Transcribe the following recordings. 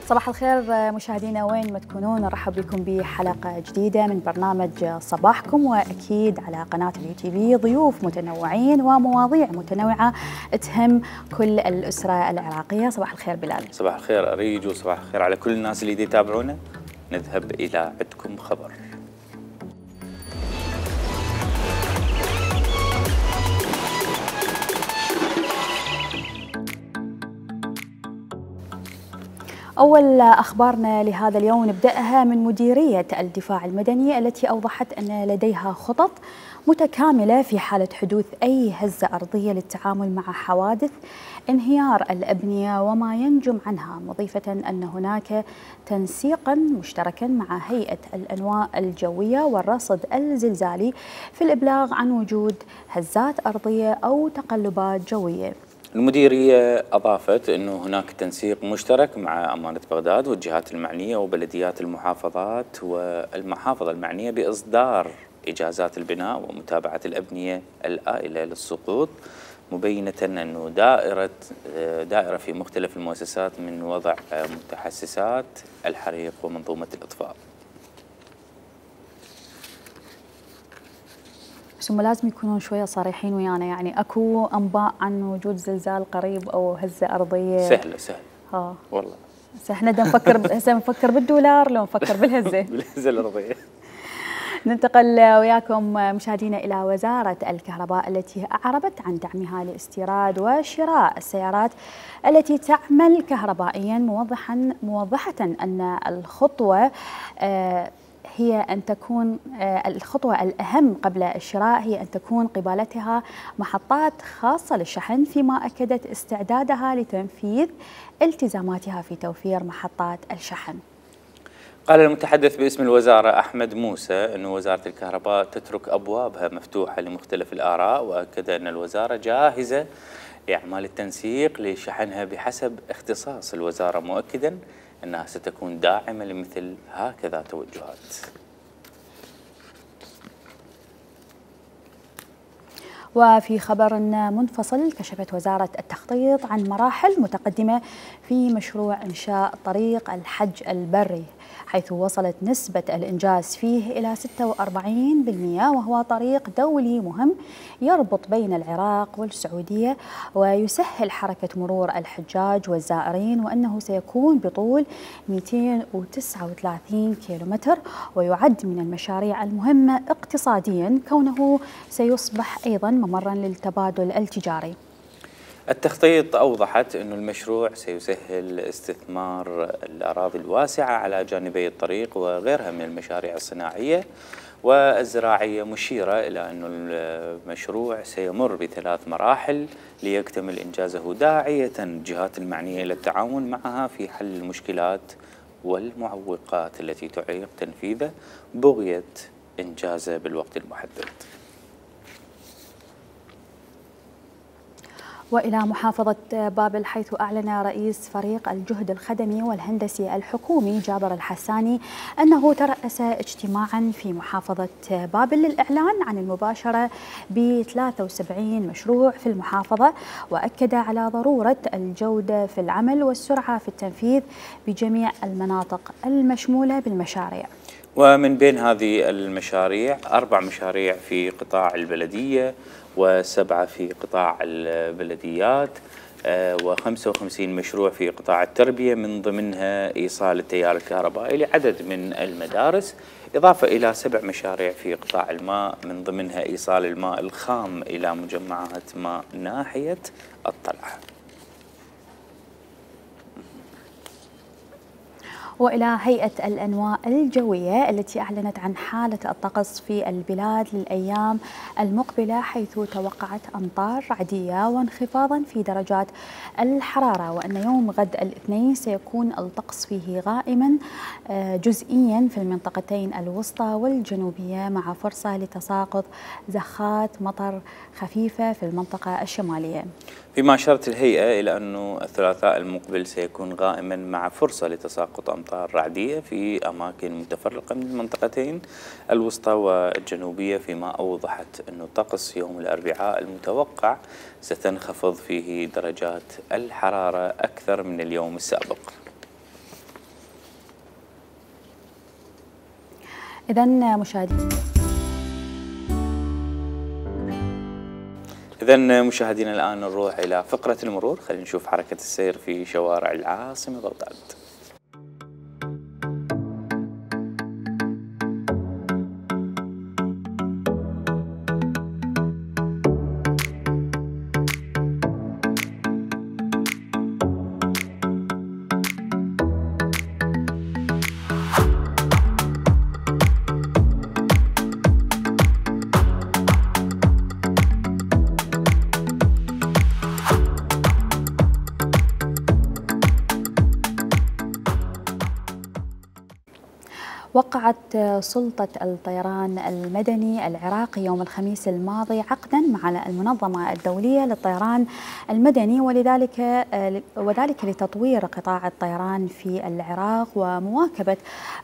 صباح الخير مشاهدينا وين ما تكونون، نرحب بكم بحلقة جديدة من برنامج صباحكم، وأكيد على قناة اليوتيوب ضيوف متنوعين ومواضيع متنوعة تهم كل الأسرة العراقية. صباح الخير بلال. صباح الخير أريج، وصباح الخير على كل الناس اللي يتابعونا. نذهب إلى عندكم خبر. أول أخبارنا لهذا اليوم نبدأها من مديرية الدفاع المدني التي أوضحت أن لديها خطط متكاملة في حالة حدوث أي هزة أرضية للتعامل مع حوادث انهيار الأبنية وما ينجم عنها، مضيفة أن هناك تنسيقا مشتركا مع هيئة الأنواء الجوية والرصد الزلزالي في الإبلاغ عن وجود هزات أرضية أو تقلبات جوية. المديرية أضافت أنه هناك تنسيق مشترك مع أمانة بغداد والجهات المعنية وبلديات المحافظات والمحافظة المعنية بإصدار إجازات البناء ومتابعة الأبنية الآئلة للسقوط، مبينة أنه دائرة في مختلف المؤسسات من وضع متحسسات الحريق ومنظومة الإطفاء. بس هم لازم يكونون شوية صريحين ويانا، يعني اكو انباء عن وجود زلزال قريب او هزة ارضية؟ سهلة والله. هسه احنا نفكر بالدولار لو نفكر بالهزة بالهزة الارضية. ننتقل وياكم مشاهدينا إلى وزارة الكهرباء التي أعربت عن دعمها لاستيراد وشراء السيارات التي تعمل كهربائيا، موضحة أن الخطوة هي أن تكون الخطوة الأهم قبل الشراء هي أن تكون قبالتها محطات خاصة للشحن، فيما أكدت استعدادها لتنفيذ التزاماتها في توفير محطات الشحن. قال المتحدث باسم الوزارة أحمد موسى أن وزارة الكهرباء تترك أبوابها مفتوحة لمختلف الآراء، وأكد أن الوزارة جاهزة لأعمال التنسيق لشحنها بحسب اختصاص الوزارة، مؤكدا أنها ستكون داعمة لمثل هكذا توجهات. وفي خبر منفصل، كشفت وزارة التخطيط عن مراحل متقدمة في مشروع إنشاء طريق الحج البري، حيث وصلت نسبة الإنجاز فيه إلى 46%، وهو طريق دولي مهم يربط بين العراق والسعودية ويسهل حركة مرور الحجاج والزائرين، وأنه سيكون بطول 239 كيلومتر، ويعد من المشاريع المهمة اقتصاديا كونه سيصبح أيضا ممرا للتبادل التجاري. التخطيط أوضحت أن المشروع سيسهل استثمار الأراضي الواسعة على جانبي الطريق وغيرها من المشاريع الصناعية والزراعية، مشيرة إلى أن المشروع سيمر ب3 مراحل ليكتمل إنجازه، داعية الجهات المعنية إلى التعاون معها في حل المشكلات والمعوقات التي تعيق تنفيذه بغية إنجازه بالوقت المحدد. وإلى محافظة بابل، حيث أعلن رئيس فريق الجهد الخدمي والهندسي الحكومي جابر الحساني أنه ترأس اجتماعا في محافظة بابل للإعلان عن المباشرة ب73 مشروع في المحافظة، وأكد على ضرورة الجودة في العمل والسرعة في التنفيذ بجميع المناطق المشمولة بالمشاريع. ومن بين هذه المشاريع 4 مشاريع في قطاع البلدية و7 في قطاع البلديات و55 مشروع في قطاع التربية، من ضمنها إيصال التيار الكهربائي لعدد من المدارس، إضافة إلى 7 مشاريع في قطاع الماء، من ضمنها إيصال الماء الخام إلى مجمعات ماء ناحية الطلعة. وإلى هيئة الأنواء الجوية التي أعلنت عن حالة الطقس في البلاد للأيام المقبلة، حيث توقعت أمطار رعدية وانخفاضا في درجات الحرارة، وأن يوم غد الاثنين سيكون الطقس فيه غائما جزئيا في المنطقتين الوسطى والجنوبية، مع فرصة لتساقط زخات مطر خفيفة في المنطقة الشمالية. فيما أشارت الهيئة إلى أنه الثلاثاء المقبل سيكون غائما مع فرصة لتساقط أمطار رعدية في أماكن متفرقة من المنطقتين الوسطى والجنوبية، فيما أوضحت أنه طقس يوم الأربعاء المتوقع ستنخفض فيه درجات الحرارة أكثر من اليوم السابق. إذا مشاهدينا الآن نروح إلى فقرة المرور، خلينا نشوف حركة السير في شوارع العاصمة بغداد. وقعت سلطة الطيران المدني العراقي يوم الخميس الماضي عقدا مع المنظمة الدولية للطيران المدني وذلك لتطوير قطاع الطيران في العراق ومواكبة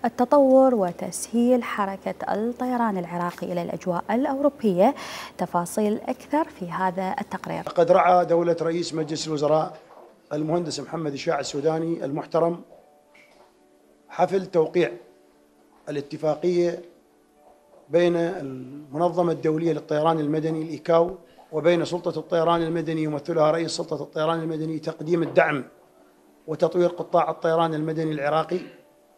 التطور وتسهيل حركة الطيران العراقي إلى الأجواء الأوروبية. تفاصيل أكثر في هذا التقرير. قد رعى دولة رئيس مجلس الوزراء المهندس محمد الشاع السوداني المحترم حفل توقيع الاتفاقية بين المنظمة الدولية للطيران المدني الإيكاو وبين سلطة الطيران المدني يمثلها رئيس سلطة الطيران المدني تقديم الدعم وتطوير قطاع الطيران المدني العراقي.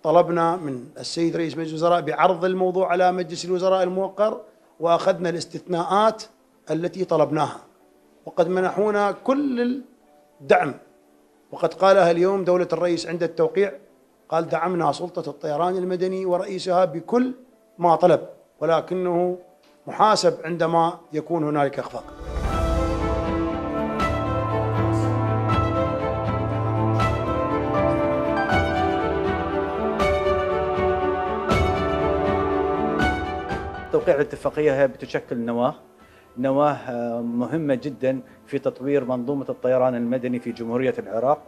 طلبنا من السيد رئيس مجلس الوزراء بعرض الموضوع على مجلس الوزراء الموقر وأخذنا الاستثناءات التي طلبناها وقد منحونا كل الدعم، وقد قالها اليوم دولة الرئيس عند التوقيع، قال دعمنا سلطة الطيران المدني ورئيسها بكل ما طلب ولكنه محاسب عندما يكون هنالك إخفاق. توقيع الاتفاقية هي بتشكل نواة مهمة جدا في تطوير منظومة الطيران المدني في جمهورية العراق.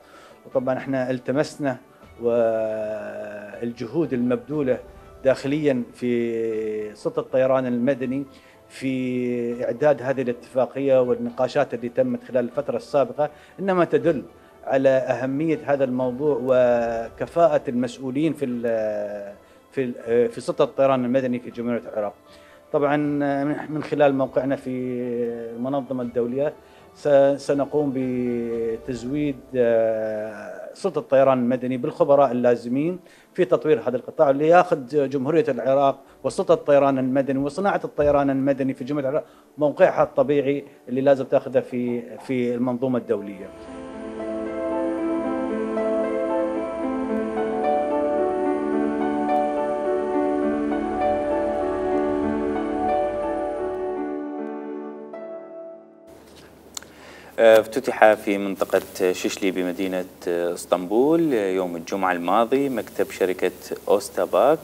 وطبعا احنا التمسنا والجهود المبذولة داخليا في سلطة الطيران المدني في إعداد هذه الاتفاقية والنقاشات اللي تمت خلال الفترة السابقة إنما تدل على أهمية هذا الموضوع وكفاءة المسؤولين في سلطة الطيران المدني في جمهورية العراق. طبعا من خلال موقعنا في المنظمة الدولية سنقوم بتزويد سلطة الطيران المدني بالخبراء اللازمين في تطوير هذا القطاع اللي ياخذ جمهورية العراق وسلطة الطيران المدني وصناعة الطيران المدني في جمهورية العراق موقعها الطبيعي اللي لازم تاخذه في المنظومة الدولية. افتتح في منطقة ششلي بمدينة اسطنبول يوم الجمعة الماضي مكتب شركة أوستاباك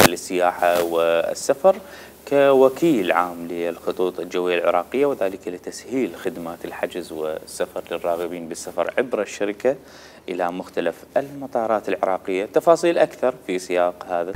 للسياحة والسفر كوكيل عام للخطوط الجوية العراقية، وذلك لتسهيل خدمات الحجز والسفر للراغبين بالسفر عبر الشركة إلى مختلف المطارات العراقية. تفاصيل أكثر في سياق هذا.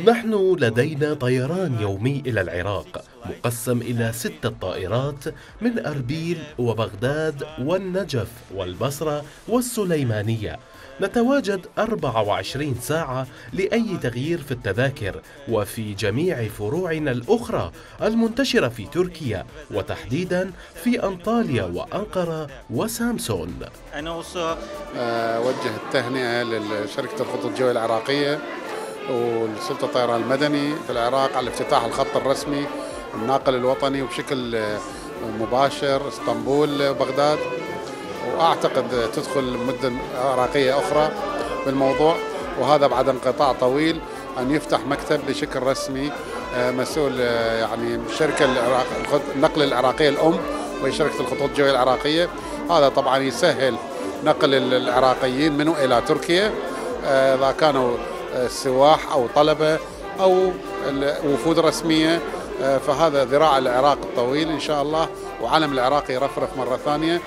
نحن لدينا طيران يومي إلى العراق مقسم إلى 6 طائرات من أربيل وبغداد والنجف والبصرة والسليمانية. نتواجد 24 ساعة لأي تغيير في التذاكر وفي جميع فروعنا الأخرى المنتشرة في تركيا وتحديدا في أنطاليا وأنقرة وسامسون. أوجه التهنئة لشركة الخطوط الجوية العراقية والسلطة الطيران المدني في العراق على افتتاح الخط الرسمي الناقل الوطني وبشكل مباشر اسطنبول وبغداد، وأعتقد تدخل مدن عراقية أخرى بالموضوع، وهذا بعد انقطاع طويل أن يفتح مكتب بشكل رسمي مسؤول يعني شركة النقل العراقية الأم وهي شركة الخطوط الجوية العراقية. هذا طبعا يسهل نقل العراقيين منه إلى تركيا إذا كانوا سواح أو طلبة أو وفود رسمية، فهذا ذراع العراق الطويل إن شاء الله، وعلم العراق يرفرف مرة ثانية.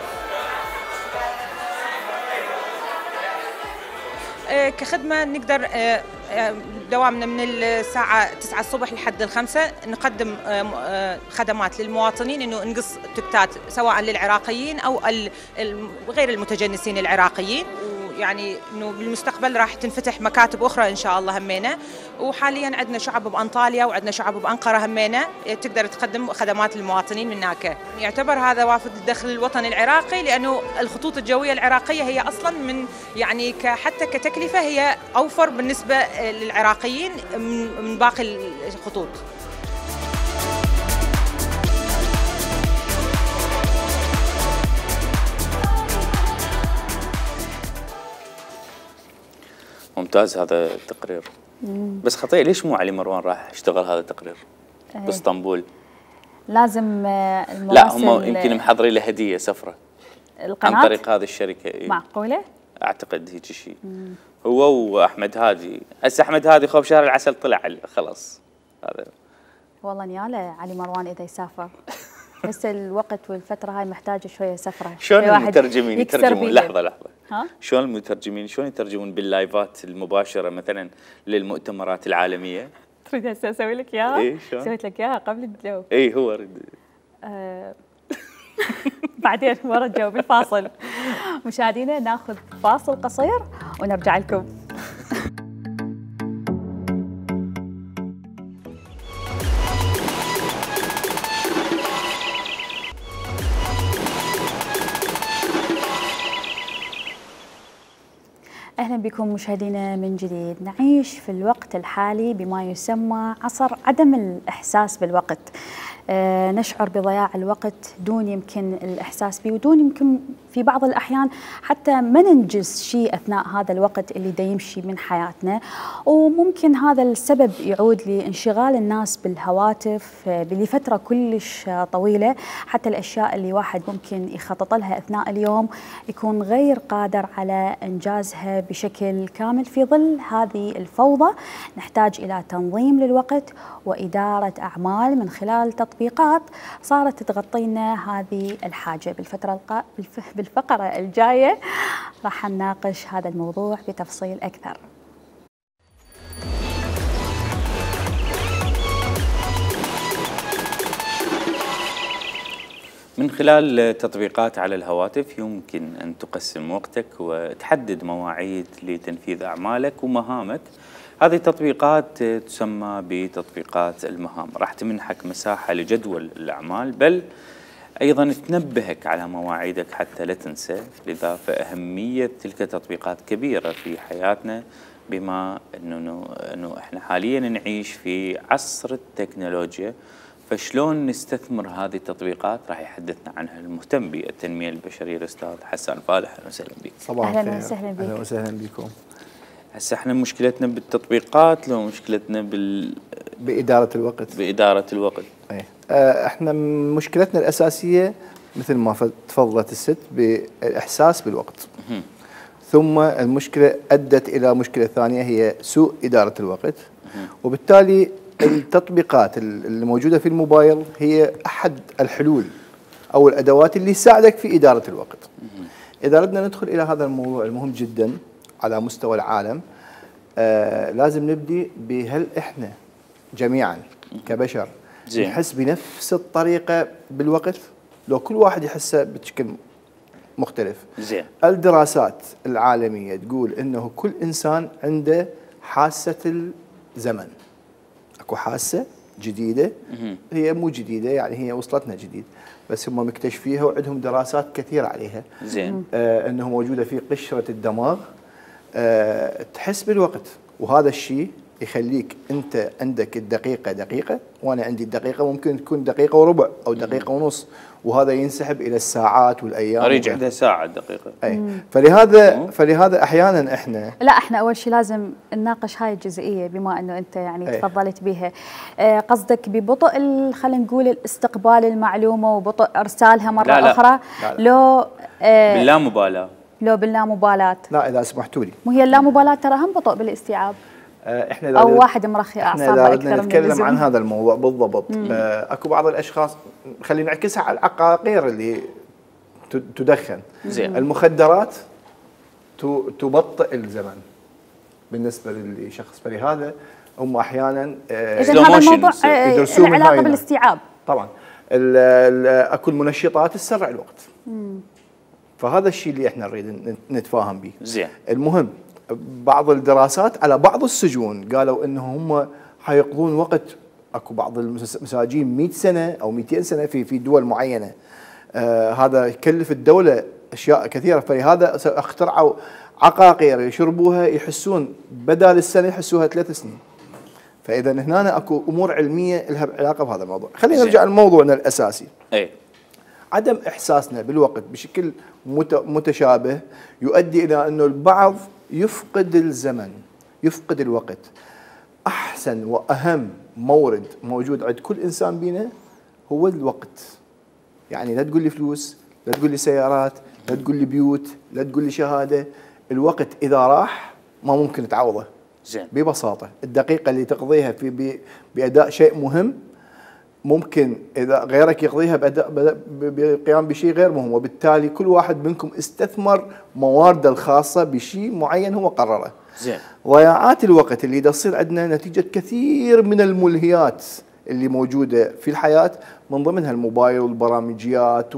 كخدمة نقدر دوامنا من الساعة 9 الصبح لحد 5 نقدم خدمات للمواطنين، انه نقص تكتات سواء للعراقيين او غير المتجنسين العراقيين، ويعني انه بالمستقبل راح تنفتح مكاتب اخرى ان شاء الله همينه. وحاليا عندنا شعب بانطاليا وعندنا شعب بانقره همينه تقدر تقدم خدمات للمواطنين من هناك. يعتبر هذا وافد الدخل الوطني العراقي، لانه الخطوط الجويه العراقيه هي اصلا من يعني حتى كتكلفه هي اوفر بالنسبه للعراقيين من باقي الخطوط. ممتاز هذا التقرير. بس خطيئة، ليش مو علي مروان راح يشتغل هذا التقرير باسطنبول؟ لازم المراسل، لا هم يمكن محضرين له هدية سفرة القناة عن طريق هذه الشركة. معقولة؟ أعتقد هيك شيء. هو وأحمد هادي. هسه أحمد هادي خوب شهر العسل طلع خلاص هذا. والله نياله علي مروان إذا يسافر. هسه الوقت والفترة هاي محتاجة شوية سفرة. شلون المترجمين يترجمون؟ لحظة ها؟ شلون المترجمين شلون يترجمون باللايفات المباشرة مثلا للمؤتمرات العالمية؟ تريد هسه اسوي لك اياها؟ اي شلون؟ سويت لك اياها قبل الجو. اي هو اريد. بعدين ورا الجو بالفاصل. مشاهدينا ناخذ فاصل قصير ونرجع لكم. أهلا بكم مشاهدينا من جديد. نعيش في الوقت الحالي بما يسمى عصر عدم الإحساس بالوقت. نشعر بضياع الوقت دون يمكن الإحساس به، ودون يمكن في بعض الأحيان حتى ما ننجز شيء أثناء هذا الوقت اللي دا يمشي من حياتنا. وممكن هذا السبب يعود لانشغال الناس بالهواتف لفترة كلش طويلة، حتى الأشياء اللي واحد ممكن يخطط لها أثناء اليوم يكون غير قادر على إنجازها بشكل كامل. في ظل هذه الفوضى نحتاج إلى تنظيم للوقت وإدارة أعمال من خلال تطبيقات صارت تغطينا هذه الحاجة. بالفقرة الجاية راح نناقش هذا الموضوع بتفصيل أكثر. من خلال تطبيقات على الهواتف يمكن أن تقسم وقتك وتحدد مواعيد لتنفيذ أعمالك ومهامك. هذه التطبيقات تسمى بتطبيقات المهام، راح تمنحك مساحة لجدول الأعمال، بل أيضا تنبهك على مواعيدك حتى لا تنسى. لذا فأهمية تلك التطبيقات كبيرة في حياتنا، بما أنه إحنا حاليا نعيش في عصر التكنولوجيا. فشلون نستثمر هذه التطبيقات راح يحدثنا عنها المهتم بالتنمية البشرية الأستاذ حسان فالح. أهلا وسهلا بك. صباح أهلا وسهلا بك. أهلا وسهلا بكم. هسه احنا مشكلتنا بالتطبيقات لو مشكلتنا بإدارة الوقت. بإدارة الوقت. ايه احنا مشكلتنا الأساسية مثل ما تفضلت الست بالإحساس بالوقت. ثم المشكلة أدت إلى مشكلة ثانية هي سوء إدارة الوقت. وبالتالي التطبيقات اللي موجودة في الموبايل هي أحد الحلول أو الأدوات اللي تساعدك في إدارة الوقت. إذا أردنا ندخل إلى هذا الموضوع المهم جدا على مستوى العالم، لازم نبدي بهل إحنا جميعا كبشر نحس بنفس الطريقة بالوقت؟ لو كل واحد يحسه بشكل مختلف. زين. الدراسات العالمية تقول إنه كل إنسان عنده حاسة الزمن. اكو حاسة جديدة، هي مو جديدة يعني هي وصلتنا جديد، بس هم مكتشفيها وعندهم دراسات كثيرة عليها. زين. انه موجودة في قشرة الدماغ. تحس بالوقت، وهذا الشيء يخليك انت عندك الدقيقة دقيقة، وانا عندي الدقيقة ممكن تكون دقيقة وربع او دقيقة ونص، وهذا ينسحب الى الساعات والايام. اريد عندها ساعة دقيقة. اي فلهذا احيانا احنا اول شيء لازم نناقش هاي الجزئية، بما انه انت يعني تفضلت بها. قصدك ببطء خلينا نقول الاستقبال المعلومة وبطء ارسالها مرة اخرى؟ لا. لو باللامبالاة. لو باللامبالاة. لا اذا سمحتوا لي. وهي اللامبالاة ترى هم بطء بالاستيعاب. احنا او واحد مرخي اعصابه اكثر من نتكلم اللزوم. عن هذا الموضوع بالضبط. اكو بعض الاشخاص خلينا نعكسها على العقاقير اللي تدخن. زين. المخدرات تبطئ الزمن. بالنسبه للشخص، فلهذا هم احيانا اذا هذا الموضوع يدرسون من العلاقه هاي بالاستيعاب. طبعا اكو المنشطات تسرع الوقت. فهذا الشيء اللي احنا نريد نتفاهم به. زين. المهم بعض الدراسات على بعض السجون قالوا انه هم حيقضون وقت، اكو بعض المساجين 100 سنه او 200 سنه في دول معينه. هذا يكلف الدوله اشياء كثيره، فلهذا اخترعوا عقاقير يشربوها يحسون بدال السنه يحسوها 3 سنين. فاذا هنا اكو امور علميه لها علاقه بهذا الموضوع. خلينا نرجع لموضوعنا الاساسي. اي عدم احساسنا بالوقت بشكل متشابه يؤدي الى انه البعض يفقد الزمن، يفقد الوقت. احسن واهم مورد موجود عند كل انسان بينا هو الوقت. يعني لا تقول لي فلوس، لا تقول لي سيارات، لا تقول لي بيوت، لا تقول لي شهاده. الوقت اذا راح ما ممكن تعوضه. زين. ببساطه الدقيقه اللي تقضيها باداء شيء مهم ممكن اذا غيرك يقضيها بقيام بشيء غير مهم، وبالتالي كل واحد منكم استثمر موارده الخاصه بشيء معين هو قرره. زين. ضياعات الوقت اللي تصير عندنا نتيجه كثير من الملهيات اللي موجوده في الحياه، من ضمنها الموبايل والبرامجيات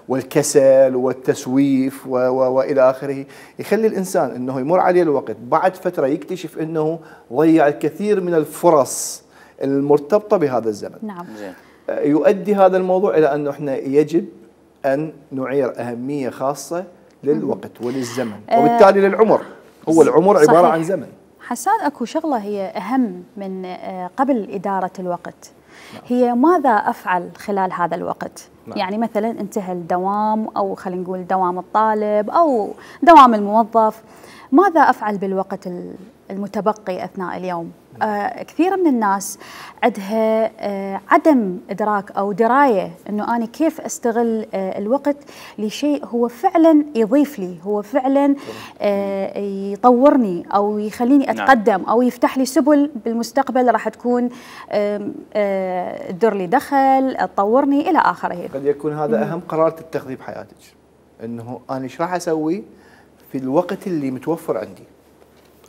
والكسل والتسويف والى اخره، يخلي الانسان انه يمر عليه الوقت بعد فتره يكتشف انه ضيع الكثير من الفرص المرتبطه بهذا الزمن. نعم. زين. يؤدي هذا الموضوع الى انه احنا يجب ان نعير اهميه خاصه للوقت وللزمن، وبالتالي للعمر. هو العمر عباره صحيح. عن زمن. حسان، اكو شغله هي اهم من قبل اداره الوقت. هي ماذا افعل خلال هذا الوقت؟ نعم. يعني مثلا انتهى الدوام، او خلينا نقول دوام الطالب او دوام الموظف، ماذا افعل بالوقت المتبقي اثناء اليوم؟ كثير من الناس عندها عدم ادراك او درايه انه انا كيف استغل الوقت لشيء هو فعلا يضيف لي، هو فعلا يطورني او يخليني اتقدم او يفتح لي سبل بالمستقبل راح تكون تدر لي دخل، تطورني الى اخره. قد يكون هذا اهم قرار تتخذيه بحياتك، انه انا ايش راح اسوي في الوقت اللي متوفر عندي.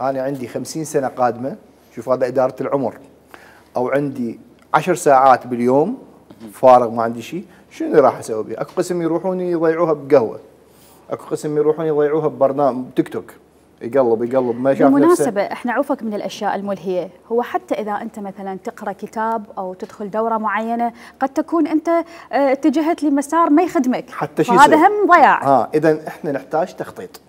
انا عندي 50 سنه قادمه، شوف هذا إدارة العمر، أو عندي 10 ساعات باليوم فارغ ما عندي شيء، شنو اللي راح أسوي بيه؟ أكو قسم يروحون يضيعوها بقهوة، أكو قسم يروحون يضيعوها ببرنامج تيك توك، يقلب ما شاف بالمناسبة احنا عوفك من الأشياء الملهية، هو حتى إذا أنت مثلا تقرأ كتاب أو تدخل دورة معينة قد تكون أنت اتجهت لمسار ما يخدمك، حتى شيء هذا هم ضياع. إذا احنا نحتاج تخطيط.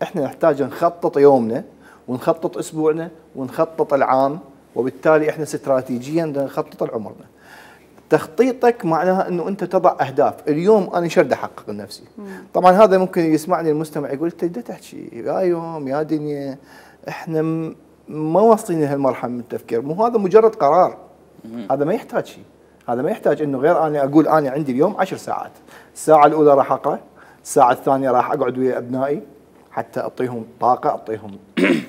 احنا نحتاج نخطط يومنا ونخطط اسبوعنا ونخطط العام، وبالتالي احنا استراتيجيا نخطط لعمرنا. تخطيطك معناها انه انت تضع اهداف، اليوم انا شو بدي احقق لنفسي؟ طبعا هذا ممكن يسمعني المستمع يقول انت بدك تحكي يا يوم يا دنيا، احنا ما واصلين لهالمرحله من التفكير، مو هذا مجرد قرار. هذا ما يحتاج شيء، هذا ما يحتاج انه غير انا اقول انا عندي اليوم 10 ساعات، الساعه الاولى راح اقرا، الساعه الثانيه راح اقعد ويا ابنائي حتى اعطيهم طاقه، اعطيهم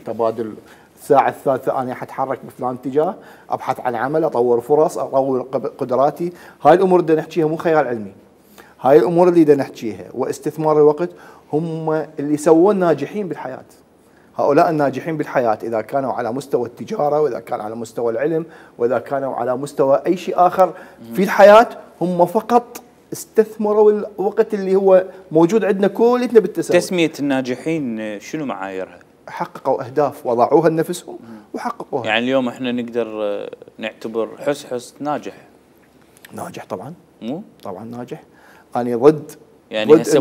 تبادل. الساعه الثالثه انا حتحرك بفلان اتجاه، ابحث عن عمل، اطور فرص، اطور قدراتي. هاي الامور اللي نحكيها مو خيال علمي، هاي الامور اللي بدنا نحكيها واستثمار الوقت هم اللي سووا الناجحين بالحياه. هؤلاء الناجحين بالحياه اذا كانوا على مستوى التجاره، واذا كان على مستوى العلم، واذا كانوا على مستوى اي شيء اخر في الحياه، هم فقط استثمروا الوقت اللي هو موجود عندنا كلنا بالتساوي. تسمية الناجحين شنو معاييرها؟ حققوا أهداف وضعوها لنفسهم وحققوها. يعني اليوم احنا نقدر نعتبر حس ناجح طبعا. مو؟ طبعا ناجح. أنا ضد يعني هسه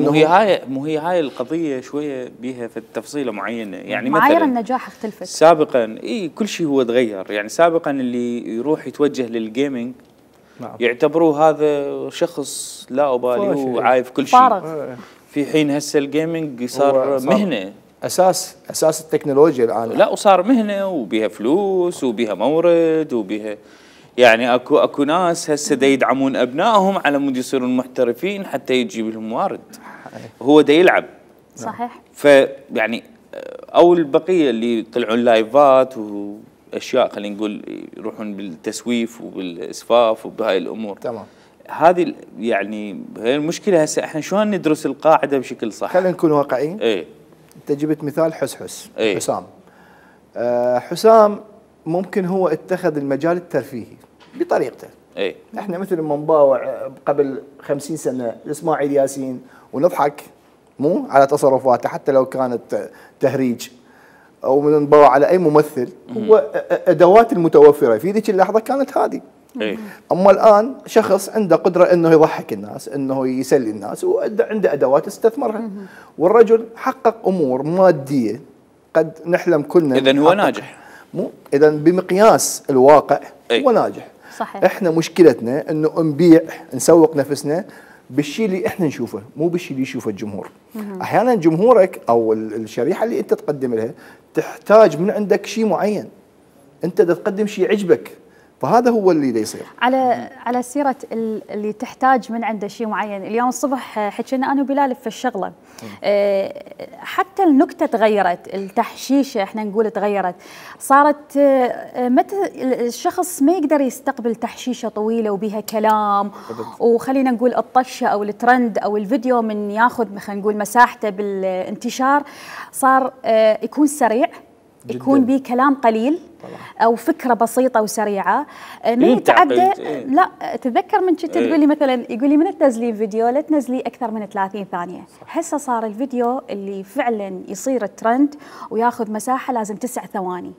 مو هي هاي القضية شوية بيها في تفصيلة معينة، يعني معايير مثلا النجاح اختلفت. سابقا كل شيء هو تغير، يعني سابقا اللي يروح يتوجه للجيمنج نعم. يعتبروه هذا شخص لا أبالي هو عايف كل شيء، في حين هسه الجيمنج صار مهنة، اساس التكنولوجيا الان. لا وصار مهنه وبيها فلوس وبيها مورد وبيها، يعني اكو ناس هسه دا يدعمون ابنائهم على مود يصيرون محترفين حتى يجيب لهم موارد، هو دا يلعب. صحيح. فيعني او البقيه اللي يطلعون لايفات واشياء خلينا نقول يروحون بالتسويف وبالاسفاف وبهاي الامور. تمام. هذه يعني هي المشكله هسه احنا شلون ندرس القاعده بشكل صح؟ خلينا نكون واقعيين. ايه انت جبت مثال حسحس. أي. حسام. حسام ممكن هو اتخذ المجال الترفيهي بطريقته. اي احنا مثل ما نباوع قبل 50 سنه اسماعيل ياسين ونضحك مو على تصرفاته حتى لو كانت تهريج، او نباوع على اي ممثل، هو ادوات المتوفره في ذيك اللحظه كانت هذه. اي اما الان شخص عنده قدره انه يضحك الناس، انه يسلي الناس، وعنده ادوات استثمرها. والرجل حقق امور ماديه قد نحلم كلنا. اذا هو ناجح. مو اذا بمقياس الواقع هو ناجح. صحيح. احنا مشكلتنا انه نبيع نسوق نفسنا بالشيء اللي احنا نشوفه، مو بالشيء اللي يشوفه الجمهور. احيانا جمهورك او الشريحه اللي انت تقدم لها تحتاج من عندك شيء معين، انت تقدم شيء عجبك، فهذا هو اللي يصير. على سيره اللي تحتاج من عنده شيء معين، اليوم الصبح حكينا انا وبلال في الشغله، حتى النكته تغيرت، التحشيشه احنا نقول تغيرت، صارت متى الشخص ما يقدر يستقبل تحشيشه طويله وبيها كلام، وخلينا نقول الطشه او الترند او الفيديو من ياخذ خلينا نقول مساحته بالانتشار، صار يكون سريع، يكون به كلام قليل او فكره بسيطه وسريعه، ما يتعدى. لا تذكر من كنت تقول لي مثلا، يقول لي من تنزلين فيديو لا تنزلي اكثر من 30 ثانيه. هسه صار الفيديو اللي فعلا يصير ترند وياخذ مساحه لازم 9 ثواني.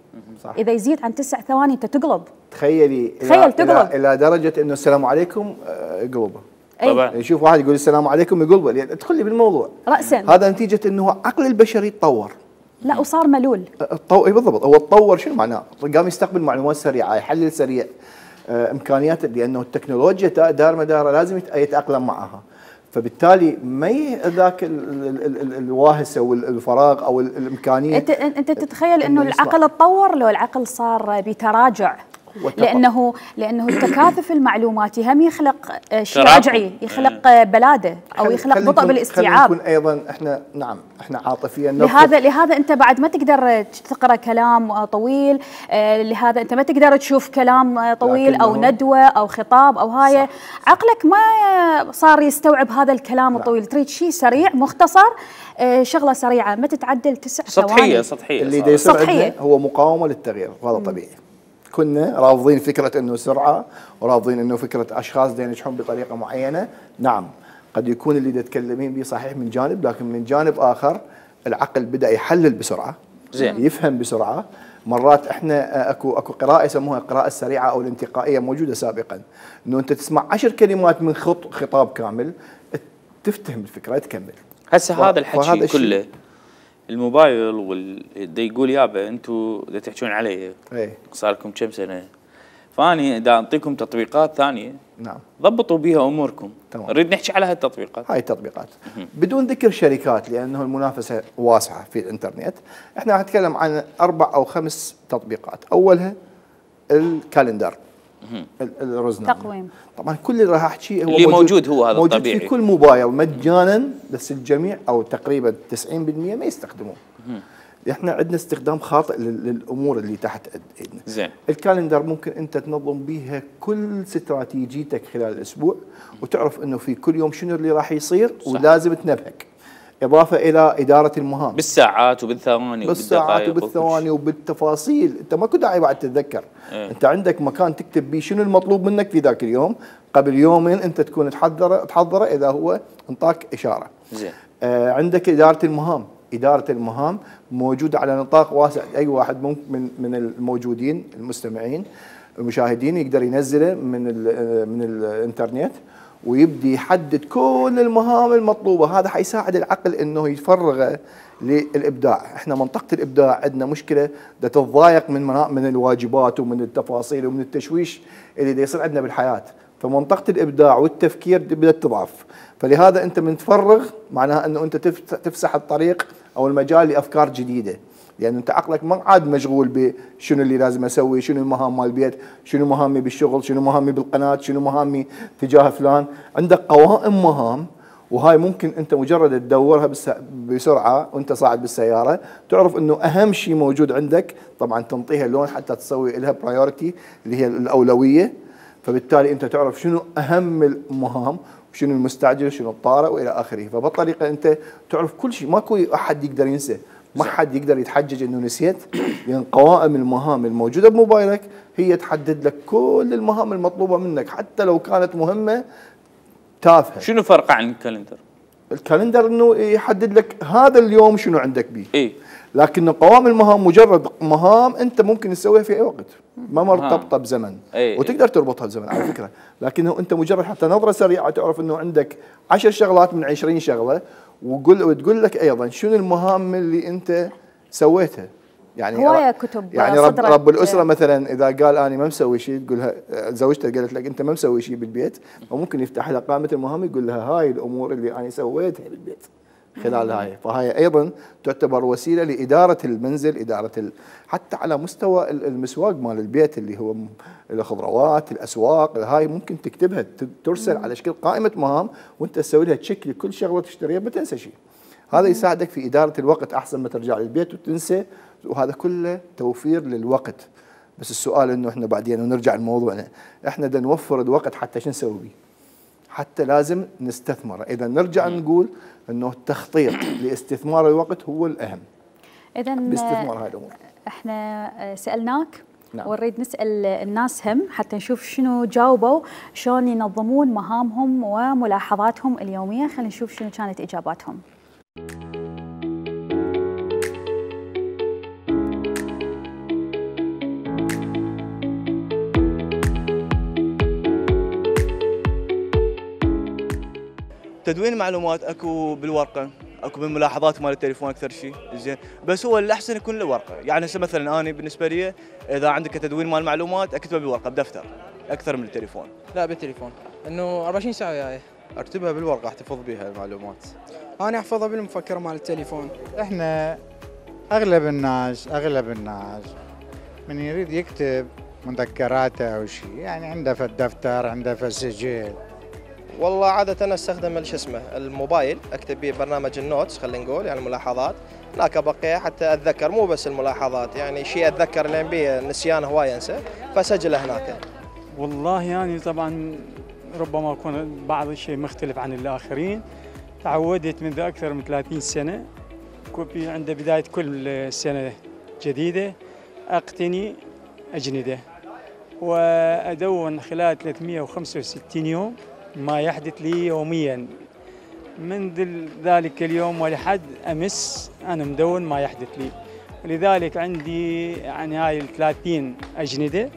صح. اذا يزيد عن 9 ثواني انت تقلب. تخيل تقلب الى درجه انه السلام عليكم يقلبه. طبعا يشوف واحد يقول السلام عليكم يقلبه، يعني ادخل لي بالموضوع راسا. هذا نتيجه انه عقل البشري تطور. لا وصار ملول. بالضبط، هو تطور. شنو معناه؟ قام يستقبل معلومات سريعه، يحلل سريع، امكانيات، لانه التكنولوجيا دار مدار لازم يتاقلم معها، فبالتالي ما ذاك الواهسه والفراغ او الامكانيه. انت تتخيل انه العقل تطور لو العقل صار بتراجع، لانه التكاثف المعلوماتي هم يخلق شيء رجعي، يخلق بلاده او يخلق بطء بالاستيعاب. نكون ايضا احنا احنا عاطفيا. لهذا انت بعد ما تقدر تقرا كلام طويل، لهذا انت ما تقدر تشوف كلام طويل او ندوه او خطاب او هاي. عقلك ما صار يستوعب هذا الكلام الطويل، تريد شيء سريع مختصر، شغله سريعه ما تتعدل 9 ثواني. سطحيه اللي يصير هو مقاومه للتغيير، وهذا طبيعي. كنا رافضين فكرة أنه سرعة، ورافضين أنه فكرة أشخاص دين ينجحون بطريقة معينة. نعم قد يكون اللي تتكلمين به صحيح من جانب، لكن من جانب آخر العقل بدأ يحلل بسرعة، زين، يفهم بسرعة. مرات احنا اكو قراءة يسموها القراءة السريعة أو الانتقائية موجودة سابقا، أنه أنت تسمع 10 كلمات من خطاب كامل تفتهم الفكرة تكمل. هسه هذا الحكي كله الموبايل يقول يابا انتم دا تحكون علي صار لكم كم سنه، فاني دا اعطيكم تطبيقات ثانيه. نعم ضبطوا بها اموركم. تمام. نريد نحكي على هالتطبيقات. هاي التطبيقات بدون ذكر شركات لانه المنافسه واسعه في الانترنت. احنا راح نتكلم عن 4 أو 5 تطبيقات. اولها الكالندر، الرزنامه، تقويم. طبعا كل اللي راح احكيه هو اللي موجود هو هذا موجود الطبيعي في كل موبايل مجانا، بس الجميع او تقريبا 90% ما يستخدموه. احنا عندنا استخدام خاطئ للامور اللي تحت ايدنا. زين. الكالندر ممكن انت تنظم بيها كل استراتيجيتك خلال الاسبوع، وتعرف انه في كل يوم شنو اللي راح يصير. صح. ولازم تنبهك، اضافه الى اداره المهام بالساعات وبالثواني وبالثواني وبالتفاصيل. انت ماكو داعي بعد تتذكر. انت عندك مكان تكتب بيه شنو المطلوب منك في ذاك اليوم، قبل يومين انت تكون تحضره اذا هو انطاك اشاره. زين. عندك اداره المهام موجوده على نطاق واسع. اي واحد ممكن من الموجودين المستمعين المشاهدين يقدر ينزله من الانترنت ويبدي يحدد كل المهام المطلوبه. هذا حيساعد العقل انه يفرغه للابداع. احنا منطقه الابداع عندنا مشكله تتضايق من الواجبات ومن التفاصيل ومن التشويش اللي يصير عندنا بالحياه، فمنطقه الابداع والتفكير بدات تضعف. فلهذا انت من تفرغ معناها انه انت تفسح الطريق او المجال لافكار جديده، لان انت عقلك ما عاد مشغول بشنو اللي لازم اسوي، شنو المهام مال البيت، شنو مهامي بالشغل، شنو مهامي بالقناه، شنو مهامي تجاه فلان. عندك قوائم مهام، وهاي ممكن انت مجرد تدورها بسرعه وانت صاعد بالسياره تعرف انه اهم شيء موجود عندك. طبعا تنطيها لون حتى تسوي لها برايورتي اللي هي الاولويه، فبالتالي انت تعرف شنو اهم المهام شنو المستعجل وشنو الطارئ والى اخره. فبالطريقه انت تعرف كل شيء، ماكو احد يقدر ينسى، ما حد يقدر يتحجج انه نسيت، لان قوائم المهام الموجوده بموبايلك هي تحدد لك كل المهام المطلوبه منك حتى لو كانت مهمه تافهه. شنو فرقه عن الكالندر؟ الكالندر انه يحدد لك هذا اليوم شنو عندك به، لكن قوائم المهام مجرد مهام انت ممكن تسويها في اي وقت، ما مرتبطه بزمن، وتقدر تربطها بزمن على فكره، لكنه انت مجرد حتى نظره سريعه تعرف انه عندك 10 شغلات من 20 شغله، وتقول لك ايضا شنو المهام اللي انت سويتها. يعني هوايه كتب يعني رب الاسره مثلا اذا قال انا ما مسوي شيء، تقولها زوجته قالت لك انت ما مسوي شيء بالبيت، وممكن يفتح لها قائمه المهام يقول لها هاي الامور اللي انا سويتها بالبيت خلال هاي. فهي ايضا تعتبر وسيله لاداره المنزل، اداره حتى على مستوى المسواق مال البيت اللي هو الخضروات، الاسواق، هاي ممكن تكتبها ترسل على شكل قائمه مهام، وانت تسوي لها تشيك لكل شغله تشتريها ما تنسى شيء. هذا يساعدك في اداره الوقت احسن ما ترجع للبيت وتنسى، وهذا كله توفير للوقت. بس السؤال انه احنا بعدين ونرجع لموضوعنا، احنا بدنا نوفر الوقت حتى شو نسوي به؟ حتى لازم نستثمره. اذا نرجع نقول انه التخطيط لاستثمار الوقت هو الاهم. اذا باستثمار هاي الامور. احنا سالناك ونريد نسال الناس هم حتى نشوف شنو جاوبوا، شلون ينظمون مهامهم وملاحظاتهم اليوميه. خلينا نشوف شنو كانت اجاباتهم. تدوين المعلومات اكو بالورقه، اكو بالملاحظات مال التليفون اكثر شيء، زين، بس هو الاحسن يكون له ورقه. يعني هسه مثلا انا بالنسبه لي اذا عندك تدوين مال المعلومات اكتبها بالورقه بدفتر اكثر من التليفون. لا بالتليفون، انه 24 ساعه وياي. اكتبها بالورقه احتفظ بها المعلومات. انا احفظها بالمفكره مال التليفون. احنا اغلب الناس من يريد يكتب مذكراته او شيء، يعني عنده في الدفتر، عنده في السجل. والله عادة أنا استخدم شو اسمه الموبايل، أكتب به برنامج النوتس خلينا نقول، يعني الملاحظات، هناك أبقيها حتى أتذكر، مو بس الملاحظات، يعني شيء أتذكر لأن بيه نسيان هواي أنسى، فسجله هناك. والله يعني طبعا ربما أكون بعض الشيء مختلف عن الآخرين. تعودت منذ أكثر من 30 سنة عند بداية كل سنة جديدة أقتني أجندة، وأدون خلال 365 يوم ما يحدث لي يوميا. منذ ذلك اليوم ولحد أمس أنا مدون ما يحدث لي، ولذلك عندي يعني هاي 30 أجندة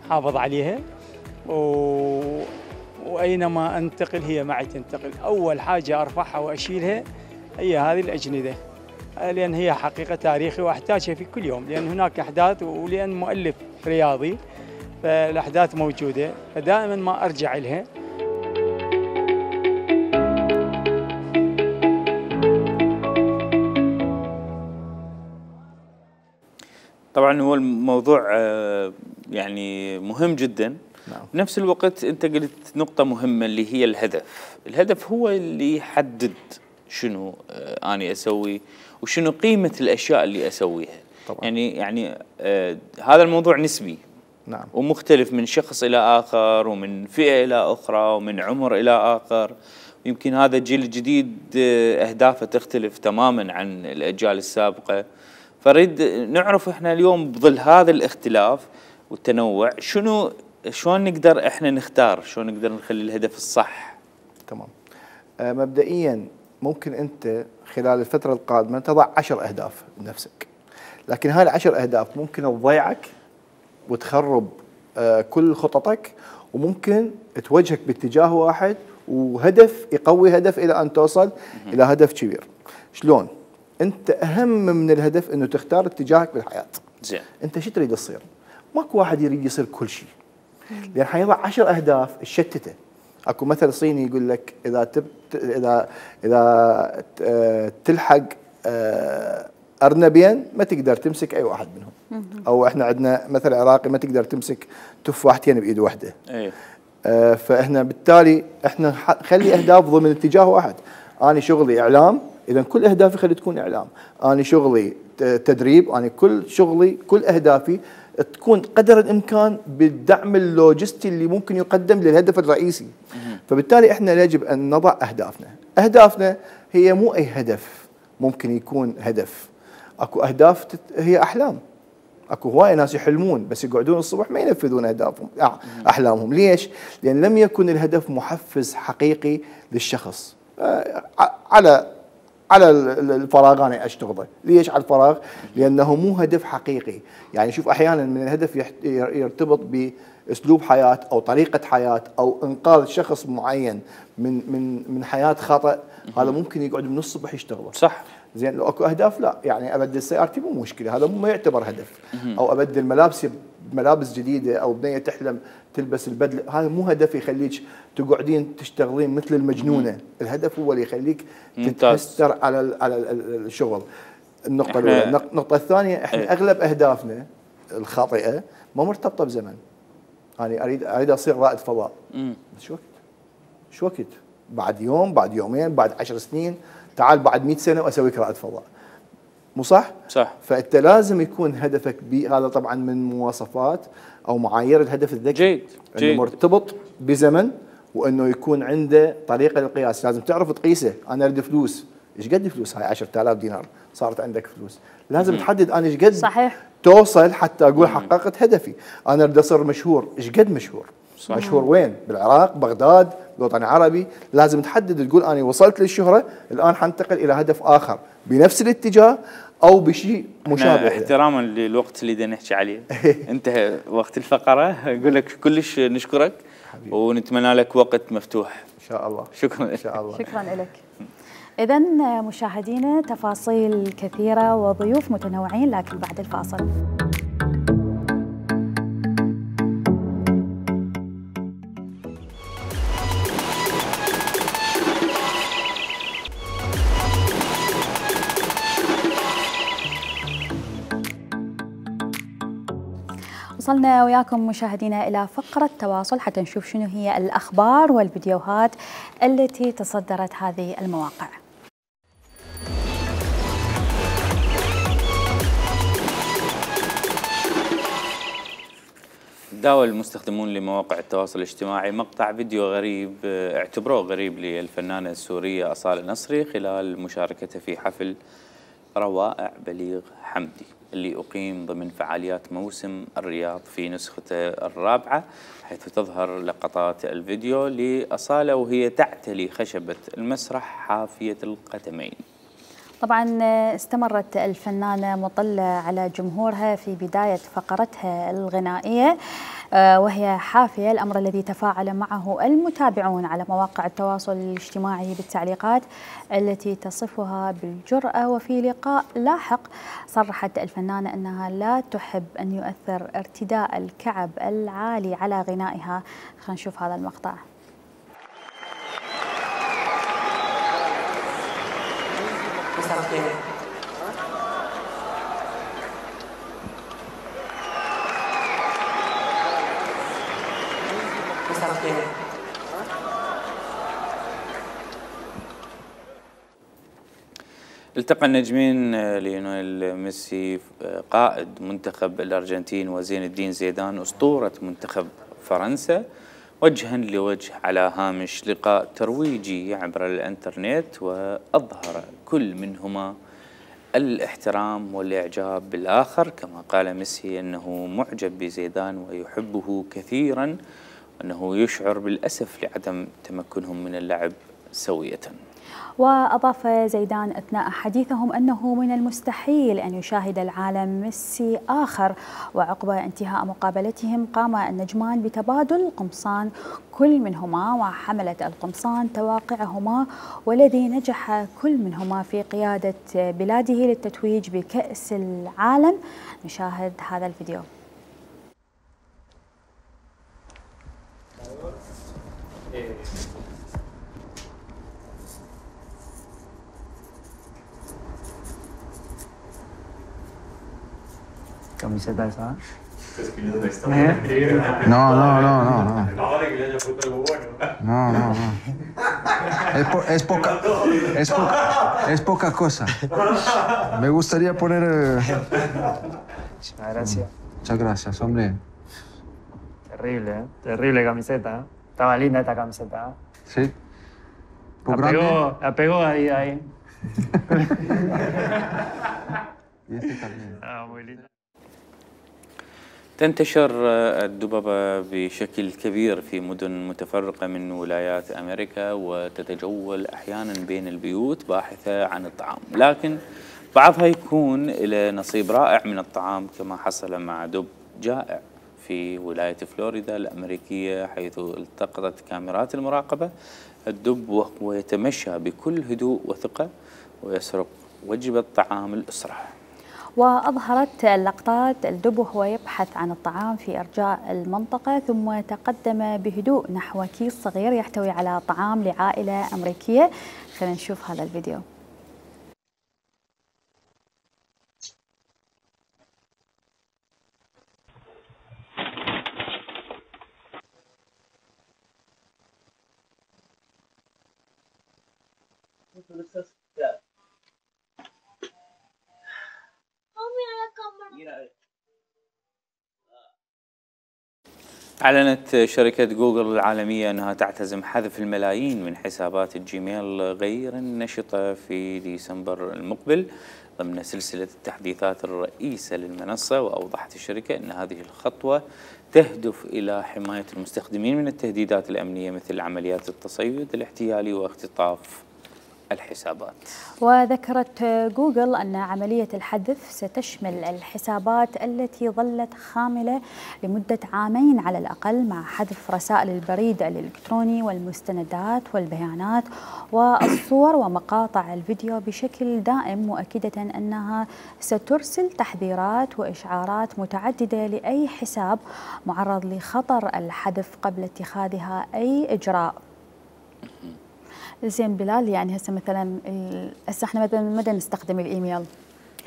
حافظ عليها، وأينما أنتقل هي معي تنتقل. أول حاجة أرفعها وأشيلها هي هذه الأجندة، لأن هي حقيقة تاريخي وأحتاجها في كل يوم، لأن هناك أحداث، ولأن مؤلف رياضي فالأحداث موجودة، فدائما ما أرجع لها. طبعا هو الموضوع يعني مهم جدا. بنفس الوقت انت قلت نقطة مهمة اللي هي الهدف. الهدف هو اللي يحدد شنو أنا أسوي وشنو قيمة الأشياء اللي أسويها. طبعا. يعني هذا الموضوع نسبي. نعم. ومختلف من شخص إلى آخر، ومن فئة إلى أخرى، ومن عمر إلى آخر. يمكن هذا الجيل الجديد أهدافه تختلف تماما عن الأجيال السابقة. فريد نعرف احنا اليوم بظل هذا الاختلاف والتنوع شلون نقدر احنا نختار، شلون نقدر نخلي الهدف الصح. تمام. مبدئيا ممكن انت خلال الفترة القادمة تضع 10 اهداف لنفسك، لكن هاي ال10 اهداف ممكن تضيعك وتخرب كل خططك، وممكن توجهك باتجاه واحد وهدف يقوي هدف الى ان توصل الى هدف كبير. شلون؟ انت اهم من الهدف انه تختار اتجاهك بالحياه. زين. انت شو تريد تصير؟ ماكو واحد يريد يصير كل شيء. لان حيضع 10 اهداف تشتته. اكو مثل صيني يقول لك اذا تلحق ارنبين ما تقدر تمسك اي واحد منهم. او احنا عندنا مثل عراقي ما تقدر تمسك تفاحتين بايد واحده. فاحنا بالتالي احنا خلي اهداف ضمن اتجاه واحد. انا شغلي اعلام، إذا كل أهدافي خلي تكون إعلام. أنا شغلي تدريب، أنا كل شغلي كل أهدافي تكون قدر الامكان بالدعم اللوجستي اللي ممكن يقدم للهدف الرئيسي. فبالتالي احنا يجب ان نضع اهدافنا. اهدافنا هي مو اي هدف ممكن يكون هدف. اكو اهداف هي احلام. اكو هوايه ناس يحلمون بس يقعدون الصبح ما ينفذون اهدافهم احلامهم. ليش؟ لان لم يكن الهدف محفز حقيقي للشخص. على الفراغ انا اشتغله. ليش على الفراغ؟ لانه مو هدف حقيقي. يعني شوف احيانا من الهدف يرتبط باسلوب حياه او طريقه حياه او انقاذ شخص معين من حياه خطا، هذا ممكن يقعد من الصبح يشتغله. صح. زين لو اكو اهداف لا، يعني ابدل سيارتي مو مشكله، هذا ما يعتبر هدف. او ابدل ملابس جديده، او بنيه تحلم تلبس البدله، هذا مو هدف يخليك تقعدين تشتغلين مثل المجنونه. الهدف هو اللي يخليك تتهستر على الشغل. النقطه الاولى. النقطه الثانيه، احنا اغلب اهدافنا الخاطئه ما مرتبطه بزمن. انا اريد اصير رائد فضاء. شو وقت؟ بعد يوم، بعد يومين، بعد 10 سنين، تعال بعد 100 سنه واسويك رائد فضاء. مو صح؟ صح. فانت لازم يكون هدفك هذا طبعا من مواصفات او معايير الهدف الذكي. جيد. انه مرتبط بزمن، وانه يكون عنده طريقه للقياس. لازم تعرف تقيسه. انا اريد فلوس، ايش قد فلوس؟ هاي 10000 دينار صارت عندك فلوس. لازم تحدد انا ايش قد صحيح توصل حتى اقول حققت هدفي. انا اريد اصير مشهور، ايش قد مشهور؟ صحيح. مشهور وين؟ بالعراق، بغداد، الوطن العربي. لازم تحدد تقول انا وصلت للشهره، الان حنتقل الى هدف اخر بنفس الاتجاه او بشيء مشابه. احتراما للوقت اللي بدنا نحكي عليه انتهى وقت الفقره. اقول لك كلش نشكرك حبيبي. ونتمنى لك وقت مفتوح ان شاء الله. شكرا ان شاء الله. شكرا لك. إذا مشاهدينا تفاصيل كثيرة وضيوف متنوعين، لكن بعد الفاصل. وصلنا وياكم مشاهدينا إلى فقرة تواصل حتى نشوف شنو هي الأخبار والفيديوهات التي تصدرت هذه المواقع. داول المستخدمون لمواقع التواصل الاجتماعي مقطع فيديو غريب اعتبروه غريب للفنانة السورية أصالة نصري خلال مشاركتها في حفل روائع بليغ حمدي اللي أقيم ضمن فعاليات موسم الرياض في نسخته الرابعة، حيث تظهر لقطات الفيديو لأصالة وهي تعتلي خشبة المسرح حافية القدمين. طبعا استمرت الفنانة مطلة على جمهورها في بداية فقرتها الغنائية وهي حافية، الأمر الذي تفاعل معه المتابعون على مواقع التواصل الاجتماعي بالتعليقات التي تصفها بالجرأة. وفي لقاء لاحق صرحت الفنانة أنها لا تحب أن يؤثر ارتداء الكعب العالي على غنائها. خلينا نشوف هذا المقطع. التقى النجمين ليونيل ميسي قائد منتخب الأرجنتين وزين الدين زيدان أسطورة منتخب فرنسا وجها لوجه على هامش لقاء ترويجي عبر الانترنت، وأظهر كل منهما الاحترام والإعجاب بالآخر، كما قال ميسي أنه معجب بزيدان ويحبه كثيرا، وأنه يشعر بالأسف لعدم تمكنهم من اللعب سوية. وأضاف زيدان أثناء حديثهم أنه من المستحيل أن يشاهد العالم ميسي آخر. وعقب انتهاء مقابلتهم قام النجمان بتبادل قمصان كل منهما، وحملت القمصان تواقعهما، والذي نجح كل منهما في قيادة بلاده للتتويج بكأس العالم. نشاهد هذا الفيديو. Camiseta esa. No. Es poca cosa. Me gustaría poner. Muchas gracias. Muchas gracias, hombre. Terrible, ¿eh? Terrible camiseta, ¿eh? Estaba linda esta camiseta, ¿eh? Sí. La pegó ahí. Y este también. muy linda. تنتشر الدببة بشكل كبير في مدن متفرقة من ولايات أمريكا، وتتجول أحيانا بين البيوت باحثة عن الطعام، لكن بعضها يكون له نصيب رائع من الطعام، كما حصل مع دب جائع في ولاية فلوريدا الأمريكية، حيث التقطت كاميرات المراقبة الدب وهو يتمشى بكل هدوء وثقة ويسرق وجبة طعام الأسرة. وأظهرت اللقطات الدب وهو يبحث عن الطعام في أرجاء المنطقة، ثم تقدم بهدوء نحو كيس صغير يحتوي على طعام لعائلة أمريكية. خلينا نشوف هذا الفيديو. أعلنت شركة جوجل العالمية أنها تعتزم حذف الملايين من حسابات الجيميل غير النشطة في ديسمبر المقبل ضمن سلسلة التحديثات الرئيسة للمنصة. وأوضحت الشركة أن هذه الخطوة تهدف إلى حماية المستخدمين من التهديدات الأمنية مثل عمليات التصيد الاحتيالي واختطاف الحسابات. وذكرت جوجل أن عملية الحذف ستشمل الحسابات التي ظلت خاملة لمدة عامين على الأقل، مع حذف رسائل البريد الإلكتروني والمستندات والبيانات والصور ومقاطع الفيديو بشكل دائم، مؤكدة أنها سترسل تحذيرات وإشعارات متعددة لأي حساب معرض لخطر الحذف قبل اتخاذها أي إجراء. زين بلال، يعني هسه احنا مثلا متى نستخدم الايميل؟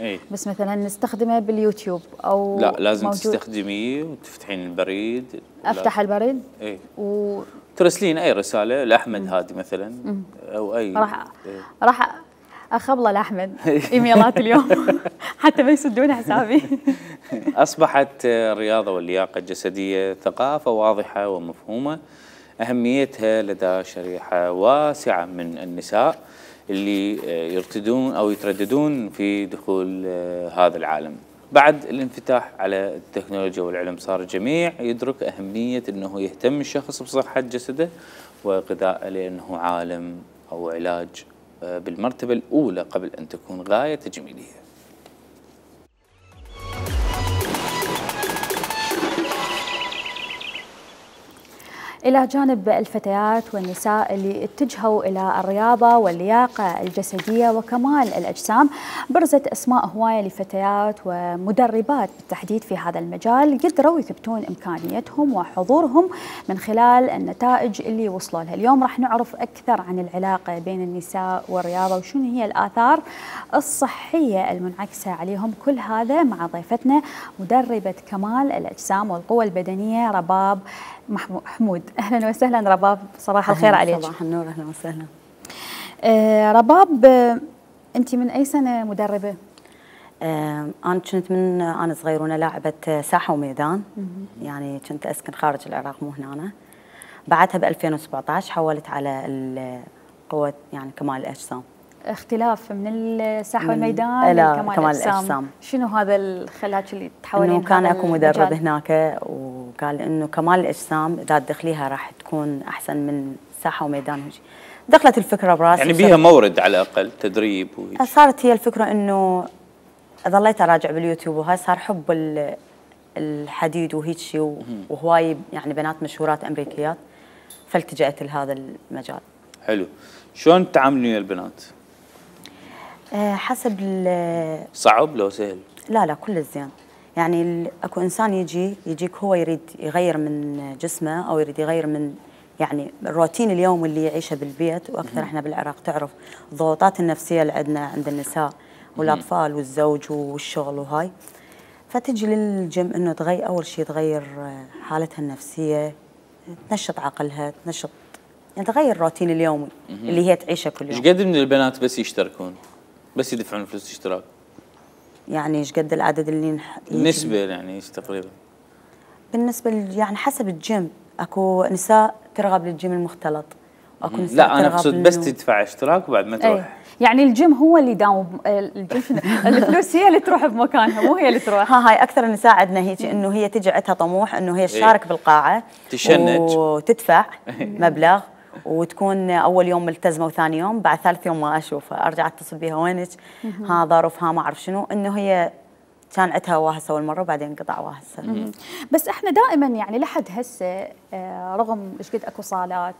اي بس مثلا نستخدمه باليوتيوب او لا، لازم تستخدميه وتفتحين البريد. افتح البريد اي ترسلين اي رساله لاحمد هادي مثلا او اي راح اخبله لاحمد ايميلات اليوم حتى ما يسدون حسابي. اصبحت الرياضه واللياقه الجسديه ثقافه واضحه ومفهومه أهميتها لدى شريحة واسعة من النساء اللي يرتدون أو يترددون في دخول هذا العالم. بعد الانفتاح على التكنولوجيا والعلم صار الجميع يدرك أهمية أنه يهتم الشخص بصحة جسده وغذائه، لأنه عالم أو علاج بالمرتبة الأولى قبل أن تكون غاية تجميلية. إلى جانب الفتيات والنساء اللي اتجهوا إلى الرياضة واللياقة الجسدية وكمال الأجسام، برزت أسماء هواية لفتيات ومدربات بالتحديد في هذا المجال قدروا يثبتون إمكانيتهم وحضورهم من خلال النتائج اللي وصلوا لها. اليوم راح نعرف أكثر عن العلاقة بين النساء والرياضة وشنو هي الآثار الصحية المنعكسة عليهم، كل هذا مع ضيفتنا مدربة كمال الأجسام والقوة البدنية رباب حمود. أهلا وسهلا رباب، صباح الخير عليك. صباح النور، أهلا وسهلا. رباب، أنت من أي سنة مدربة؟ أنا كنت من أنا صغيرونة لاعبة ساحة وميدان، يعني كنت أسكن خارج العراق مو هنا. بعدها ب 2017 حولت على القوة يعني كمال الأجسام. اختلاف من الساحة والميدان لكمال الأجسام، شنو هذا اللي خلاك اللي تحولين؟ إنه كان أكو مدرب هناك وقال إنه كمال الأجسام إذا تدخليها راح تكون أحسن من ساحة وميدان. دخلت الفكرة براسي، يعني بيها مورد على الأقل تدريب صارت هي الفكرة إنه ظليت أراجع باليوتيوب وهاي صار حب الحديد وهيك شيء، وهواي يعني بنات مشهورات أمريكيات، فالتجأت لهذا المجال. حلو. شلون تعاملين ويا البنات؟ حسب صعب لو سهل؟ لا كل زين، يعني اكو انسان يجيك هو يريد يغير من جسمه او يريد يغير من يعني الروتين اليومي اللي يعيشه بالبيت، واكثر احنا بالعراق تعرف الضغوطات النفسيه اللي عندنا عند النساء والاطفال والزوج والشغل وهاي، فتجي للجيم انه تغير اول شيء تغير حالتها النفسيه، تنشط عقلها، تنشط يعني تغير الروتين اليومي اللي هي تعيشه كل يوم. ايش قد من البنات بس يشتركون؟ بس يدفعون فلوس اشتراك؟ يعني ايش قد العدد اللي النسبه يعني ايش تقريبا؟ بالنسبه يعني حسب الجيم، اكو نساء ترغب للجيم المختلط، واكو نساء لا انا اقصد بس تدفع اشتراك وبعد ما تروح. يعني الجيم هو اللي داوم، الفلوس هي اللي تروح بمكانها مو هي اللي تروح. هاي اكثر النساء عندنا هيك، انه هي تجي عندها طموح انه هي تشارك بالقاعه تشنج وتدفع مبلغ، وتكون اول يوم ملتزمه وثاني يوم، بعد ثالث يوم ما اشوفها ارجع اتصل بها وينك؟ ها ظرف، ها ما اعرف شنو، انه هي كان عندها واهسه اول مره وبعدين انقطع واهسه. بس احنا دائما يعني لحد هسه رغم ايش قد اكو صالات،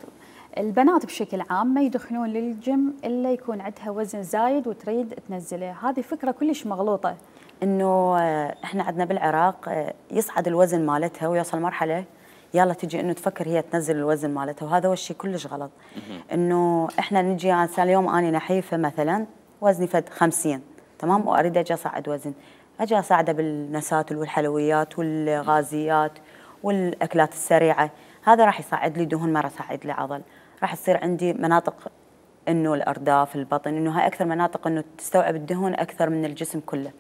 البنات بشكل عام ما يدخلون للجيم الا يكون عندها وزن زايد وتريد تنزله، هذه فكره كلش مغلوطه. انه احنا عندنا بالعراق يصعد الوزن مالتها ويوصل مرحله يلا تجي انه تفكر هي تنزل الوزن مالتها، وهذا هو الشيء كلش غلط. انه احنا نجي اليوم اني نحيفه مثلا وزني فد 50 تمام، واريد اجي اصعد وزن، اجي اساعده بالنسات والحلويات والغازيات والاكلات السريعه، هذا راح يصعد لي دهون ما راح يصعد لي عضل، راح تصير عندي مناطق انه الارداف، البطن، انه هاي اكثر مناطق انه تستوعب الدهون اكثر من الجسم كله.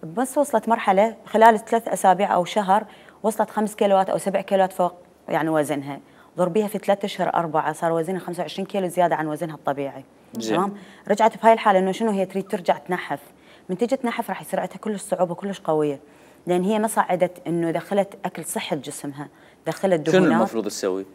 بس وصلت مرحله خلال 3 أسابيع او شهر وصلت 5 كيلوات او 7 كيلوات فوق يعني وزنها، ضربيها في 3 اشهر 4 صار وزنها 25 كيلو زياده عن وزنها الطبيعي. تمام، رجعت بهاي الحاله انه شنو هي تريد ترجع تنحف، من تجي تنحف راح يصير عندها كلش صعوبه كلش قويه، لان هي ما صعدت انه دخلت اكل صحه جسمها، دخلت دهونات. شنو المفروض تسوي؟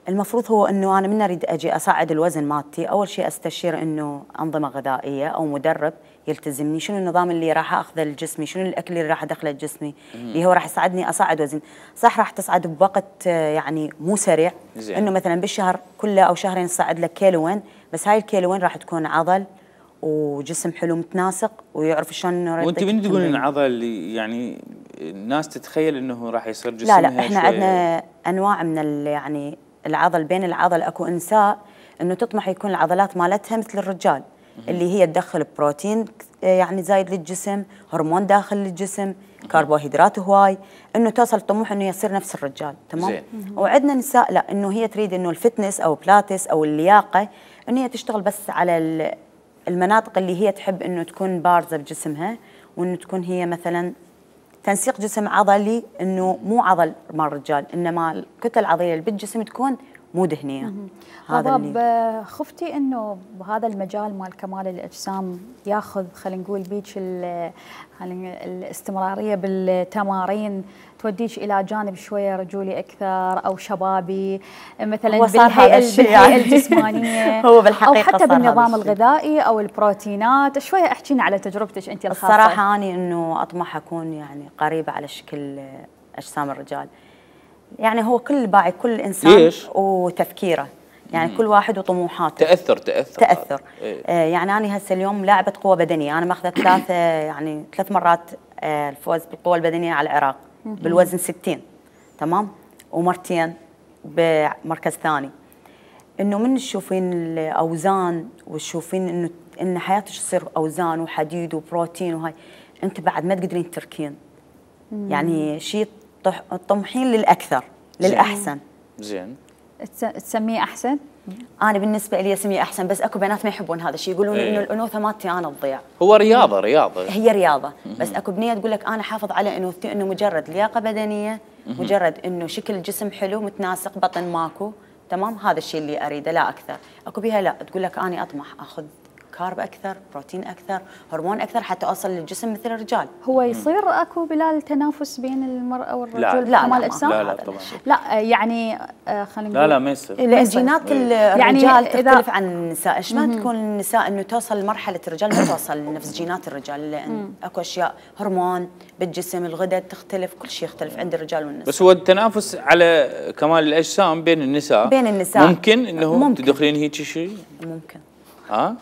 المفروض هو انه انا من اريد اجي اصعد الوزن مالتي، اول شيء استشير انه انظمه غذائيه او مدرب يلتزمني، شنو النظام اللي راح اخذه لجسمي، شنو الاكل اللي راح ادخله لجسمي اللي هو راح يساعدني اصعد وزن. صح راح تصعد بوقت يعني مو سريع، انه مثلا بالشهر كله او شهرين تصعد لك كيلوين، بس هاي الكيلوين راح تكون عضل وجسم حلو متناسق ويعرف شلون. وانت من تقولين عضل يعني الناس تتخيل انه راح يصير جسمها لا احنا عندنا انواع من يعني العضل، بين العضل اكو نساء انه تطمح يكون العضلات مالتها مثل الرجال اللي هي تدخل بروتين يعني زايد للجسم، هرمون داخل للجسم، كربوهيدرات هواي، انه توصل طموح انه يصير نفس الرجال. تمام. وعندنا نساء لا، انه هي تريد انه الفتنس او بلاتس او اللياقه انه هي تشتغل بس على المناطق اللي هي تحب انه تكون بارزه بجسمها، وانه تكون هي مثلا تنسيق جسم عضلي، انه مو عضل مال الرجال، انما الكتله العضليه اللي بالجسم تكون مو دهنيه. هذا اللي خفتي انه بهذا المجال مال كمال الاجسام ياخذ خلينا نقول بيك الاستمراريه بالتمارين توديك الى جانب شويه رجولي اكثر او شبابي مثلا بالهيئه الجسمانيه هو بالحقيقه او حتى بالنظام الغذائي او البروتينات. شويه احكينا على تجربتك انت الخاصه. الصراحه اني انه اطمح اكون يعني قريبه على شكل اجسام الرجال، يعني هو كل باعي كل انسان ليش؟ وتفكيره، يعني كل واحد وطموحاته. تاثر يعني انا هسه اليوم لاعبه قوه بدنيه، انا ماخذه 3 مرات الفوز بالقوه البدنيه على العراق بالوزن 60 تمام، ومرتين بمركز ثاني. انه من تشوفين الاوزان وتشوفين انه ان حياتك تصير اوزان وحديد وبروتين وهاي، انت بعد ما تقدرين تركين، يعني شيء طموحين للاكثر للاحسن. زين تسميه احسن؟ انا بالنسبه لي اسميه احسن، بس اكو بنات ما يحبون هذا الشيء، يقولون انه الانوثه مالتي انا تضيع. هو رياضه هي رياضه، بس اكو بنيه تقول لك انا حافظ على انوثتي، انه مجرد لياقه بدنيه، مجرد انه شكل الجسم حلو متناسق، بطن ماكو تمام، هذا الشيء اللي اريده لا اكثر. اكو بيها لا تقول لك انا اطمح اخذ كارب اكثر، بروتين اكثر، هرمون اكثر حتى اوصل للجسم مثل الرجال. هو يصير اكو بلال تنافس بين المراه والرجل لا الاجسام؟ لا طبعا لا يعني خلينا نقول لا ما يصير. الجينات الرجال يعني تختلف عن النساء، ايش ما تكون النساء انه توصل لمرحله الرجال ما توصل لنفس جينات الرجال، لان اكو اشياء هرمون بالجسم، الغدد تختلف، كل شيء يختلف عند الرجال والنساء. بس هو التنافس على كمال الاجسام بين النساء ممكن انه تدخلين هيك شيء؟ ممكن.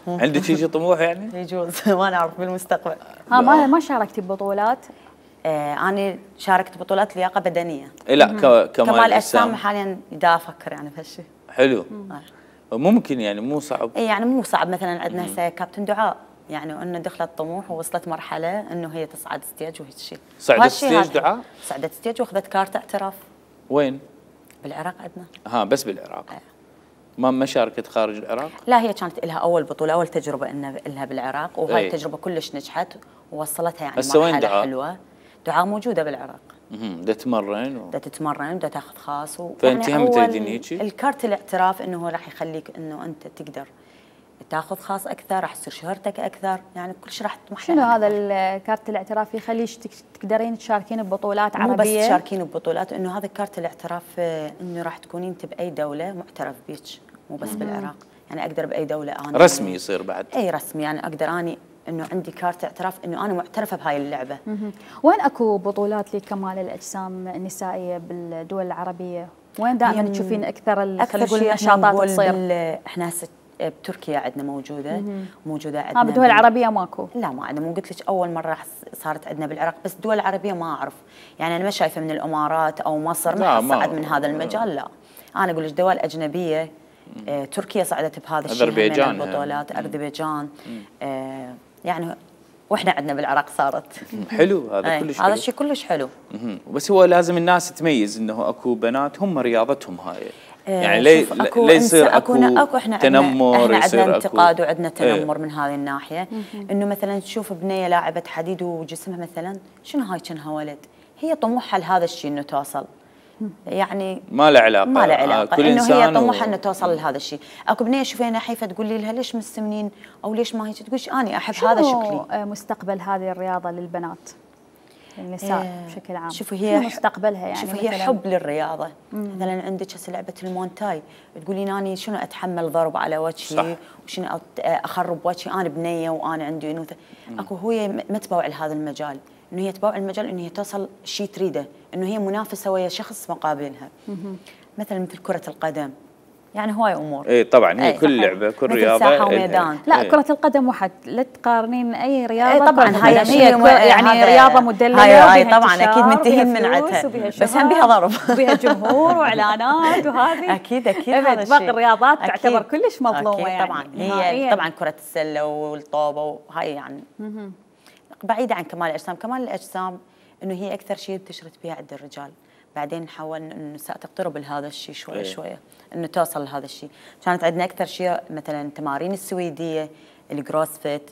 عندك شيء طموح يعني؟ يجوز ما نعرف بالمستقبل. ما شاركتي ببطولات؟ انا شاركت بطولات لياقه بدنيه. لا كمال اجسام حاليا دا افكر يعني بهالشيء. حلو. ممكن يعني مو صعب. يعني مو صعب، مثلا عندنا هسه كابتن دعاء يعني انه دخلت طموح ووصلت مرحله انه هي تصعد ستيج وهيك شيء. صعدت ستيج دعاء؟ صعدت ستيج واخذت كارت اعتراف. وين؟ بالعراق عندنا. بس بالعراق. ما شاركت خارج العراق؟ لا، هي كانت لها اول بطوله، اول تجربه لها بالعراق، وهاي التجربه كلش نجحت ووصلتها يعني هسه وين مرحله دعاء؟ حلوه. دعاء موجوده بالعراق. دا تتمرن دا تتمرن، دا تاخذ خاص فانت هم تريدين هيجي؟ الكارت الاعتراف انه هو راح يخليك انه انت تقدر تاخذ خاص اكثر، راح تصير شهرتك اكثر، يعني كل شيء راح تطمح. شنو هذا الكارت الاعتراف يخليك تقدرين تشاركين ببطولات عربيه؟ مو بس تشاركين ببطولات، انه هذا كارت الاعتراف انه راح تكونين انت باي دوله معترف بيك، مو بس بالعراق، يعني اقدر باي دوله انا رسمي يصير بعد. اي رسمي، يعني اقدر اني انه عندي كارت اعتراف انه انا معترفه بهاي اللعبه. وين اكو بطولات لكمال الاجسام النسائيه بالدول العربيه؟ وين دائما تشوفين اكثر خلينا نقول النشاطات تصير؟ احنا هسه بتركيا عندنا موجوده عندنا. بالدول العربيه ماكو؟ لا ما عندنا، مو قلت لك اول مره صارت عندنا بالعراق، بس الدول العربيه ما اعرف، يعني انا ما شايفه من الامارات او مصر ما صعد من هذا المجال. لا انا اقول لك دول اجنبيه، تركيا صعدت بهذا الشيء، اذربيجان، البطولات اذربيجان، يعني واحنا عندنا بالعراق صارت. حلو هذا كلش حلو. هذا الشيء كلش حلو. بس هو لازم الناس تميز انه اكو بنات هم رياضتهم هاي، يعني لا يصير اكو تنمر، احنا عندنا انتقاد وعندنا تنمر من هذه الناحيه، انه مثلا تشوف بنيه لاعبه حديد وجسمها مثلا شنو هاي كانها ولد، هي طموحها لهذا الشيء انه توصل، يعني ما له علاقه، ما له علاقه كل انه هي طموحها انه توصل لهذا الشيء. اكو بنيه شوفيها نحيفه تقول لي لها ليش مستمنين او ليش ما هيك، تقول اني احب هذا شكلي. مستقبل هذه الرياضه للبنات النساء بشكل عام؟ شوفي هي مستقبلها يعني، شوفي هي حب للرياضه. مثلا عندك هسه لعبه المونتاي، تقولين اني شنو اتحمل ضرب على وجهي وشنو اخرب وجهي، انا بنيه وانا عندي انوثه. اكو هي ما تبوع لهذا المجال، انه هي تبوع المجال انه هي توصل شيء تريده، انه هي منافسه ويا شخص مقابلها. مثلا مثل كره القدم، يعني هواي امور. اي طبعا هي كل لعبه كل رياضه ساحه وميدان. لا كره القدم واحد، لا تقارنين اي رياضه. طبعا هي يعني رياضه مدلله، هاي طبعا اكيد منتهين من عندها، بس هم بها ضرب، بها جمهور واعلانات وهذه اكيد هذا الشيء. باقي الرياضات تعتبر كلش مظلومه يعني. طبعا هي طبعا كره السله والطوبه وهاي يعني بعيده عن كمال الاجسام. كمال الاجسام انه هي اكثر شيء انتشرت بها عند الرجال، بعدين نحاول انه النساء تقترب لهذا الشيء شويه شويه، انه توصل لهذا الشيء. كانت عندنا اكثر شيء مثلا التمارين السويديه، الكروسفيت،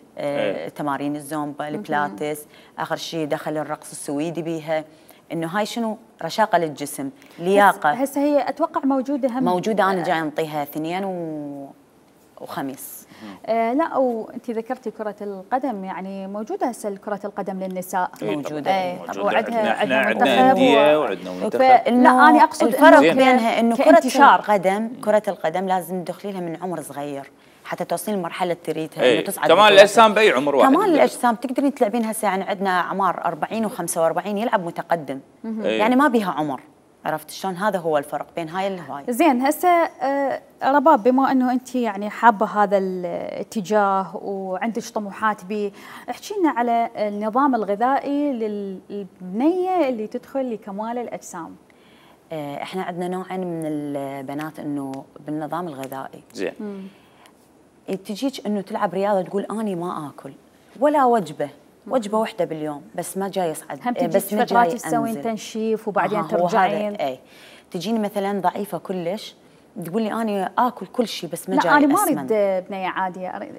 تمارين الزومبا، البلاتس، اخر شيء دخل الرقص السويدي بيها، انه هاي شنو رشاقه للجسم، لياقه. هسه هي اتوقع موجوده هم موجوده، انا جاي انطيها اثنين وخميس. لا وانت ذكرتي كرة القدم، يعني موجودة هسه كرة القدم للنساء. موجودة. وعندنا أندية وعندنا منتخب. لا أنا أقصد الفرق بينها إنه كرة القدم لازم تدخلي لها من عمر صغير حتى توصلين لمرحلة تريدها إنه تصعد. كمال الأجسام بأي عمر واحد. كمال الأجسام تقدرين تلعبين هسه، يعني عندنا أعمار 40 و45 يلعب متقدم، يعني ما بيها عمر. عرفت شلون؟ هذا هو الفرق بين هاي الهواي. زين هسه رباب، بما انه انت يعني حابه هذا الاتجاه وعندك طموحات به، احكي لنا على النظام الغذائي للبنيه اللي تدخل لكمال الاجسام. احنا عندنا نوعين من البنات انه بالنظام الغذائي. زين. تجيك انه تلعب رياضه تقول اني ما اكل ولا وجبه واحدة باليوم، بس ما جاي يصعد، بس ما فترات تسوين تنشيف وبعدين ترجعين. اي تجيني مثلا ضعيفه كلش تقولي اني اكل كل شيء بس ما جاي لا انا ما اريد بنيه عاديه،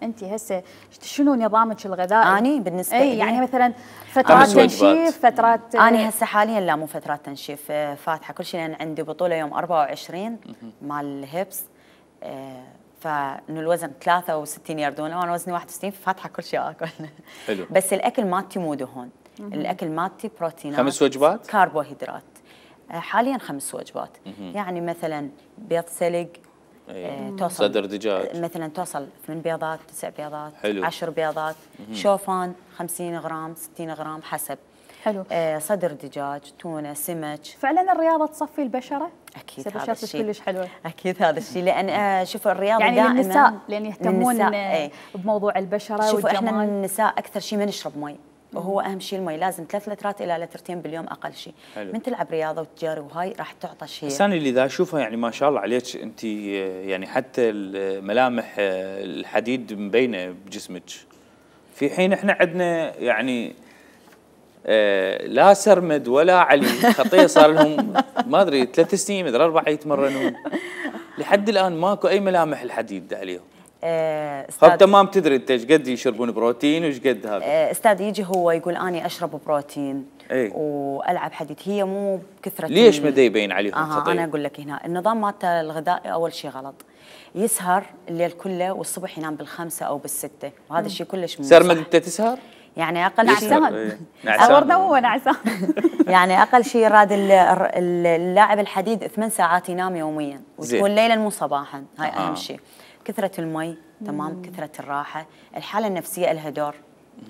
انت هسه شنو نظامك الغذائي؟ اني بالنسبه لي يعني مثلا فترات تنشيف، فترات اني هسه حاليا لا مو فترات تنشيف، فاتحه كل شيء، لان عندي بطوله يوم 24 مال الهبس، فانه الوزن 63 يردونه وانا وزني 61، فاتحه كل شيء اكل. حلو. بس الاكل مالتي مو دهون، الاكل مالتي بروتينات، 5 وجبات كربوهيدرات، حاليا 5 وجبات. يعني مثلا بيض سلق، توصل صدر دجاج مثلا توصل 8 بيضات 9 بيضات، حلو. 10 بيضات، شوفان 50 غرام 60 غرام حسب. حلو. صدر دجاج، تونه، سمك. فعلا الرياضه تصفي البشره؟ اكيد هذا بشرتك كلش حلوه. اكيد هذا الشيء، لان شوف الرياضه يعني دائما للنساء لان يهتمون بموضوع البشره شوفوا والجمال. احنا النساء اكثر شيء ما نشرب مي، وهو اهم شيء المي، لازم 3 لترات الى لترتين باليوم اقل شيء. من تلعب رياضه وتجاري وهاي راح تعطى شيء. بس انا اللي ذا اشوفها يعني ما شاء الله عليك انت، يعني حتى الملامح الحديد مبينه بجسمك، في حين احنا عندنا يعني لا سرمد ولا علي خطيه صار لهم ما ادري 3 سنين مدري 4 يتمرنون، لحد الان ماكو اي ملامح الحديد عليهم. طب تمام، تدري انت ايش قد يشربون بروتين وايش قد هذا؟ استاذ يجي هو يقول اني اشرب بروتين والعب حديد، هي مو بكثره. ليش ما يبين عليهم خطير؟ انا اقول لك هنا النظام مالته الغذائي اول شيء غلط، يسهر الليل كله والصبح ينام بالخمسة او بالستة، وهذا الشيء كلش مو صح. سرمد انت تسهر؟ يعني اقل شيء نعسان هو نعسان. يعني اقل شيء راد اللاعب الحديد 8 ساعات ينام يوميا، وتكون ليلا مو صباحا، هاي اهم شيء. كثرة المي، تمام، كثرة الراحة، الحالة النفسية لها دور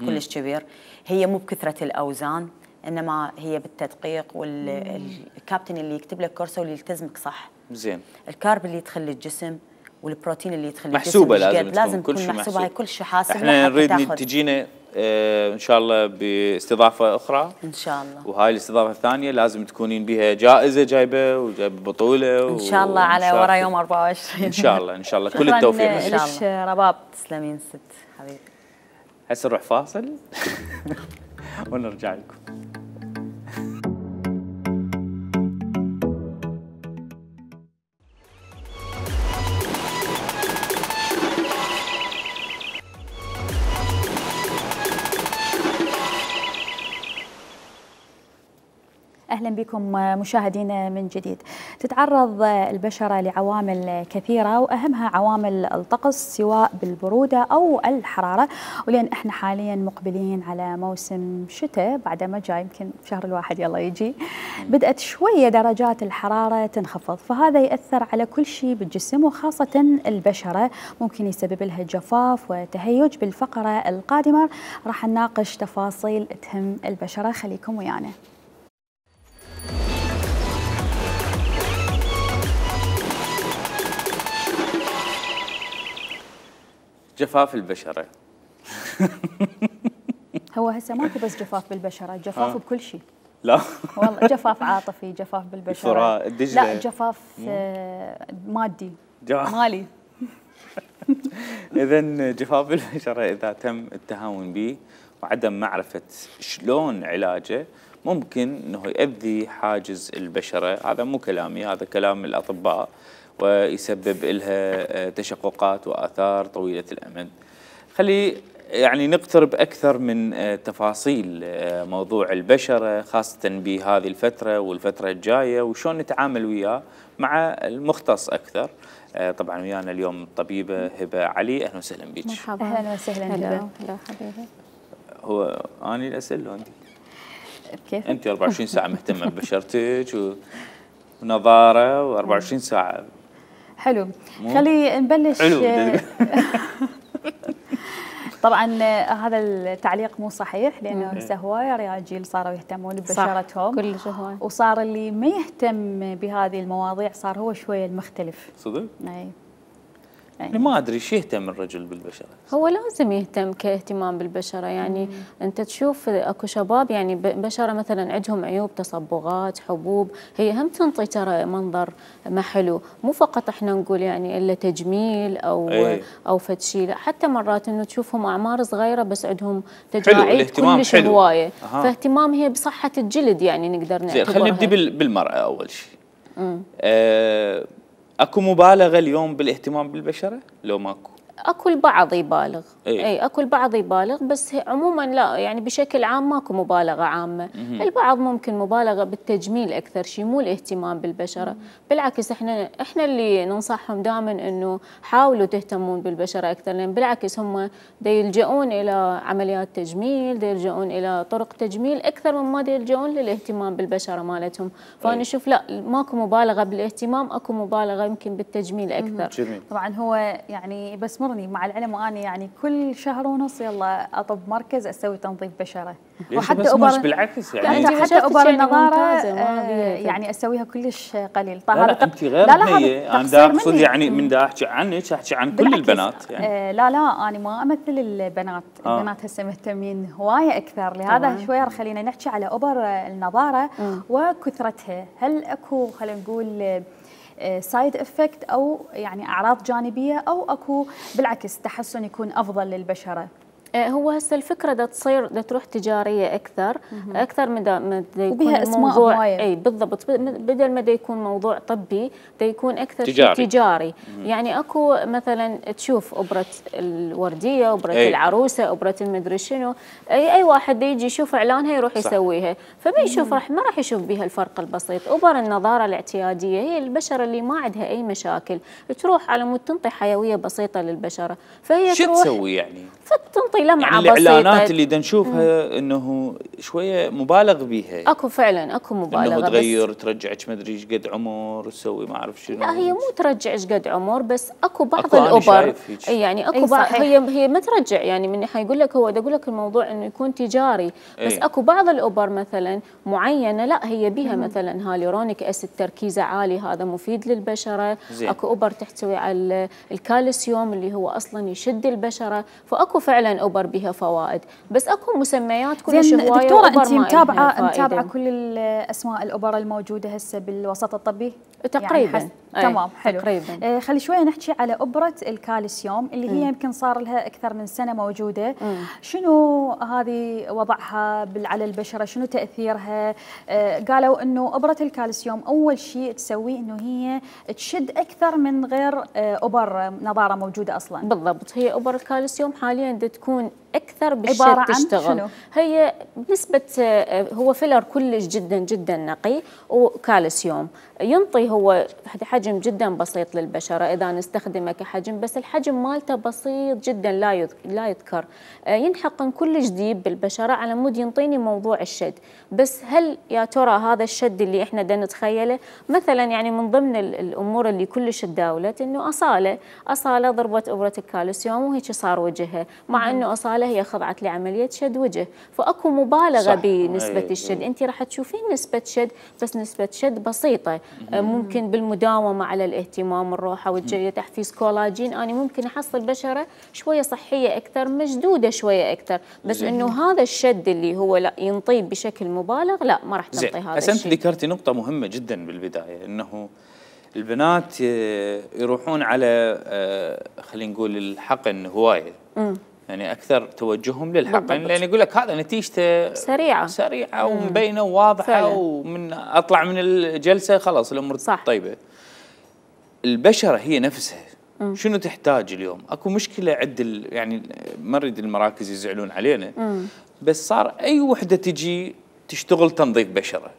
كلش كبير، هي مو بكثرة الأوزان، إنما هي بالتدقيق والكابتن اللي يكتب لك كورسه واللي يلتزمك صح. زين. الكارب اللي يدخل للجسم والبروتين اللي يدخل محسوبة للجسم لازم تكون محسوبة، هاي كل شيء حاسب. احنا نريد تجينا ان شاء الله باستضافة أخرى إن شاء الله، وهاي الاستضافة الثانية لازم تكونين بها جائزة جايبة وجايبة بطولة إن شاء الله على ورا يوم 24 إن شاء الله إن شاء الله. كل التوفيق إن شاء الله. رباب تسلمين ست حبيبي. هسه نروح فاصل ونرجع لكم. أهلا بكم مشاهدينا من جديد. تتعرض البشرة لعوامل كثيرة وأهمها عوامل الطقس سواء بالبرودة أو الحرارة، ولأن احنا حاليا مقبلين على موسم شتاء بعد ما جاي يمكن شهر الواحد يلا يجي، بدأت شوية درجات الحرارة تنخفض، فهذا يأثر على كل شيء بالجسم وخاصة البشرة، ممكن يسبب لها جفاف وتهيج. بالفقرة القادمة راح نناقش تفاصيل تهم البشرة، خليكم ويانا. جفاف البشرة هو هسه ماكو بس جفاف بالبشرة، جفاف بكل شيء. لا والله جفاف عاطفي، جفاف بالبشرة، لا جفاف مادي مالي. إذا جفاف البشرة إذا تم التهاون به وعدم معرفة شلون علاجه ممكن أنه يؤذي حاجز البشرة. هذا مو كلامي، هذا كلام الأطباء، ويسبب لها تشققات وآثار طويلة الأمد. خلي يعني نقترب أكثر من تفاصيل موضوع البشرة خاصة بهذه الفترة والفترة الجاية وشون نتعامل وياه مع المختص أكثر. طبعا ويانا اليوم الطبيبة هبة علي، أهلا وسهلا بك. مرحبا. أهلا وسهلا هبة. هلا حبيبي. هو أنا الأسئلة عندي كيف؟ أنت 24 ساعة مهتمة ببشرتك ونظارة و24 ساعة. حلو. خلي نبلش. حلو. طبعا هذا التعليق مو صحيح، لانه هسه هوايه رجال صاروا يهتمون ببشرتهم كلش هواي، وصار اللي ما يهتم بهذه المواضيع صار هو شويه المختلف. صدق؟ اي يعني ما ادري شو يهتم الرجل بالبشره. هو لازم يهتم كاهتمام بالبشره، يعني انت تشوف اكو شباب يعني بشره مثلا عندهم عيوب، تصبغات، حبوب، هي هم تنطي ترى منظر ما حلو، مو فقط احنا نقول يعني الا تجميل او فد شيء، لا حتى مرات انه تشوفهم اعمار صغيره بس عندهم تجاعيد كلش هوايه، فاهتمام هي بصحه الجلد يعني نقدر نعتبرها. خلينا نبدي بالمراه اول شيء. اكو مبالغه اليوم بالاهتمام بالبشره لو ماكو؟ اكو البعض يبالغ، اي اكو البعض يبالغ، بس عموما لا، يعني بشكل عام ماكو مبالغه عامه. البعض ممكن مبالغه بالتجميل اكثر شيء، مو الاهتمام بالبشره. بالعكس احنا اللي ننصحهم دائما انه حاولوا تهتمون بالبشره اكثر، لان بالعكس هم يلجؤون الى عمليات تجميل، يلجؤون الى طرق تجميل اكثر مما يلجؤون للاهتمام بالبشره مالتهم. فانا اشوف لا، ماكو مبالغه بالاهتمام، اكو مبالغه يمكن بالتجميل اكثر. طبعا هو يعني بس مع العلم واني يعني كل شهر ونص يلا اطب مركز اسوي تنظيف بشره، وحتى مش بالعكس يعني حتى ابر النظاره يعني اسويها كلش قليل. طيب لا انت غير هي، انا دا اقصد يعني من دا احكي عنك احكي عن كل البنات يعني. لا انا ما امثل البنات، البنات هسه مهتمين هوايه اكثر، لهذا شويه خلينا نحكي على ابر النظاره وكثرتها. هل اكو خلينا نقول سايد افكت او يعني اعراض جانبيه، او اكو بالعكس تحسن يكون افضل للبشره؟ هو هسه الفكره دا تصير دا تروح تجاريه اكثر من دا يكون وبها اسماء موضوع اي بالضبط، بدل ما دا يكون موضوع طبي دا يكون اكثر تجاري. شيء تجاري. يعني اكو مثلا تشوف ابره الورديه، ابره العروسه، ابره المدري شنو، اي واحد دا يجي يشوف اعلانها يروح يسويها، فما يشوف ما راح يشوف بها الفرق البسيط. ابر النظاره الاعتياديه هي البشره اللي ما عندها اي مشاكل، تروح على مود تنطي حيويه بسيطه للبشره، فهي شو تروح تسوي يعني؟ فتنطي لمعه يعني بسيطه. الاعلانات اللي دا نشوفها انه شويه مبالغ بيها، اكو فعلا اكو مبالغه، انه تغير ترجعك ما ادري ايش قد عمر تسوي ما اعرف شنو. لا هي مو ترجع ايش قد عمر، بس اكو بعض الابر يعني اكو بعض هي ما ترجع، يعني من حيقول لك هو دا يقول لك الموضوع انه يكون تجاري، بس اكو بعض الابر مثلا معينه لا هي بها مثلا هاليورونيك اسيد تركيزه عالي، هذا مفيد للبشره. اكو ابر تحتوي على الكالسيوم اللي هو اصلا يشد البشره، فاكو فعلا ابر بها فوائد، بس اكو مسميات كلش هوايه. دكتوره انت متابعه كل الاسماء الابر الموجوده هسه بالوسط الطبي تقريبا؟ يعني تمام، حلو. تقريبا. خلي شويه نحكي على ابره الكالسيوم اللي هي يمكن صار لها اكثر من سنه موجوده. شنو هذه وضعها على البشره؟ شنو تاثيرها؟ قالوا انه ابره الكالسيوم اول شيء تسويه انه هي تشد اكثر من غير ابر نظاره موجوده اصلا. بالضبط، هي ابر الكالسيوم حاليا تكون اكثر بالشد تشتغل. شنو؟ هي بنسبه هو فيلر كلش جدا جدا نقي وكالسيوم، ينطي هو حجم جدا بسيط للبشره اذا نستخدمه كحجم، بس الحجم مالته بسيط جدا لا يذكر، ينحقن كلش ديب بالبشره على مود ينطيني موضوع الشد. بس هل يا ترى هذا الشد اللي احنا دا نتخيله؟ مثلا يعني من ضمن الامور اللي كلش تداولت انه اصاله ضربت ابره الكالسيوم وهيك صار وجهها، مع انه اصاله هي خضعت لعمليه شد وجه، فاكو مبالغه بنسبه الشد. انت راح تشوفين نسبه شد، بس نسبه شد بسيطه. ممكن بالمداومه على الاهتمام الروحه والجايه تحفيز كولاجين، انا ممكن احصل بشره شويه صحيه اكثر، مشدوده شويه اكثر، بس انه هذا الشد اللي هو لا ينطي بشكل مبالغ لا ما راح تنطي هذا الشيء. انت ذكرتي نقطه مهمه جدا بالبدايه، انه البنات يروحون على خلينا نقول الحقن هوايه، يعني اكثر توجههم للحقن، لان يقول لك هذا نتيجته سريعه ومبينه وواضحه، ومن اطلع من الجلسه خلاص الامور طيبه. البشره هي نفسها شنو تحتاج اليوم؟ اكو مشكله عند يعني ما نريد المراكز يزعلون علينا، بس صار اي وحده تجي تشتغل تنظيف بشره،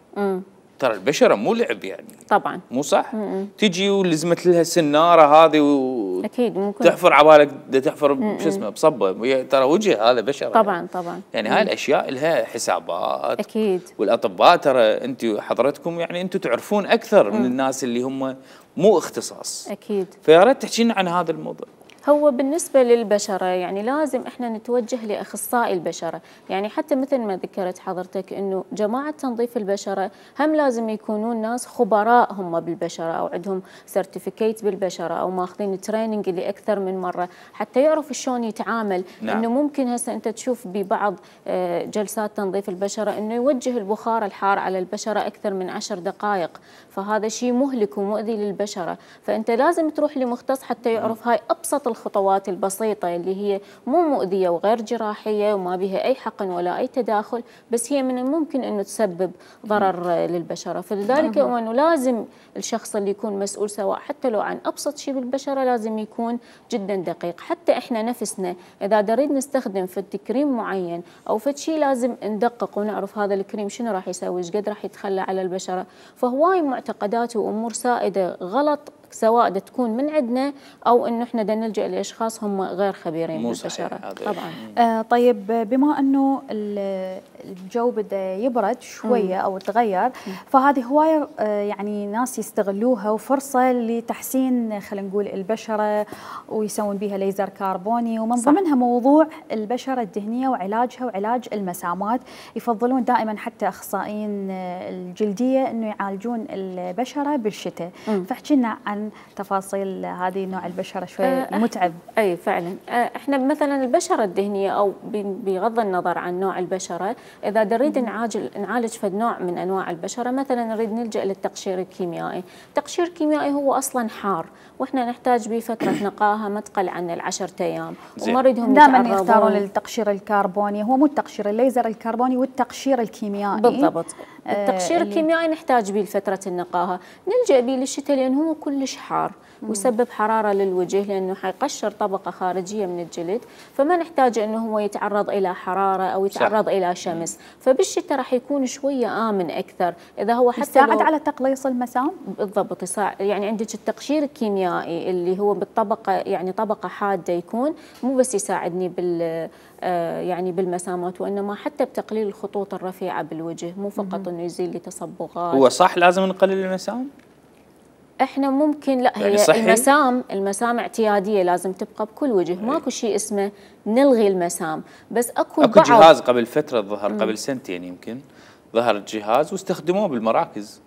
ترى البشره مو لعب يعني، طبعا مو صح. تجي ولزمت لها السناره هذه اكيد ممكن تحفر عبالك تحفر شو اسمه بصبه، ترى وجه هذا بشره طبعا طبعا. يعني هاي الاشياء لها حسابات اكيد، والاطباء ترى انت حضرتكم يعني انتم تعرفون اكثر من الناس اللي هم مو اختصاص. اكيد، فيا ريت تحكي لنا عن هذا الموضوع. هو بالنسبة للبشرة يعني لازم احنا نتوجه لأخصائي البشرة، يعني حتى مثل ما ذكرت حضرتك انه جماعة تنظيف البشرة هم لازم يكونون ناس خبراء هم بالبشرة، او عندهم سيرتيفيكيت بالبشرة، او ماخذين تريننج اللي اكثر من مرة حتى يعرف شلون يتعامل. انه ممكن هسه انت تشوف ببعض جلسات تنظيف البشرة انه يوجه البخار الحار على البشرة اكثر من 10 دقائق، فهذا شيء مهلك ومؤذي للبشرة، فانت لازم تروح لمختص حتى يعرف هاي ابسط الخطوات البسيطة اللي هي مو مؤذية وغير جراحية وما بها أي حقن ولا أي تداخل، بس هي من الممكن أنه تسبب ضرر للبشرة. فلذلك أنه لازم الشخص اللي يكون مسؤول سواء حتى لو عن أبسط شيء بالبشرة لازم يكون جدا دقيق. حتى إحنا نفسنا إذا نريد نستخدم فد كريم معين أو فد شيء لازم ندقق ونعرف هذا الكريم شنو راح يسوي، ايش قد راح يتخلى على البشرة. فهواي معتقدات وأمور سائدة غلط سواء تكون من عندنا او انه احنا بدنا نلجا لاشخاص هم غير خبيرين بالبشره. طبعا. طيب بما انه الجو بدا يبرد شويه او تغير، فهذه هوايه يعني ناس يستغلوها وفرصه لتحسين خلينا نقول البشره ويسوون بها ليزر كربوني، ومن ضمنها موضوع البشره الدهنيه وعلاجها وعلاج المسامات. يفضلون دائما حتى اخصائيين الجلديه انه يعالجون البشره بالشتاء. فاحكي لنا عن عن تفاصيل هذه نوع البشرة شوي متعب. اي فعلا. احنا مثلا البشرة الدهنية او بغض النظر عن نوع البشرة، اذا نريد نعالج فد نوع من انواع البشرة، مثلا نريد نلجأ للتقشير الكيميائي. التقشير الكيميائي هو اصلا حار، واحنا نحتاج به فترة نقاهة ما تقل عن ال10 ايام، وما نريدهم دائما يختارون التقشير الكربوني، هو مو التقشير الليزر الكربوني والتقشير الكيميائي. بالضبط. التقشير الكيميائي نحتاج به لفترة النقاهة، نلجأ به للشتاء لأنه هو كلش حار ويسبب حرارة للوجه، لأنه حيقشر طبقة خارجية من الجلد، فما نحتاج أنه هو يتعرض إلى حرارة أو يتعرض إلى شمس. فبالشتاء راح يكون شوية آمن أكثر. إذا هو حتى يساعد على تقليص المسام؟ بالضبط يساعد. يعني عندك التقشير الكيميائي اللي هو بالطبقة، يعني طبقة حادة، يكون مو بس يساعدني يعني بالمسامات، وإنما حتى بتقليل الخطوط الرفيعة بالوجه، مو فقط إنه يزيل لي تصبغات. هو صح لازم نقلل المسام؟ احنا ممكن لا، يعني هي المسام اعتياديه لازم تبقى بكل وجه، ماكو شيء اسمه نلغي المسام، بس اكو جهاز قبل فتره ظهر، قبل سنتين يمكن ظهر الجهاز واستخدموه بالمراكز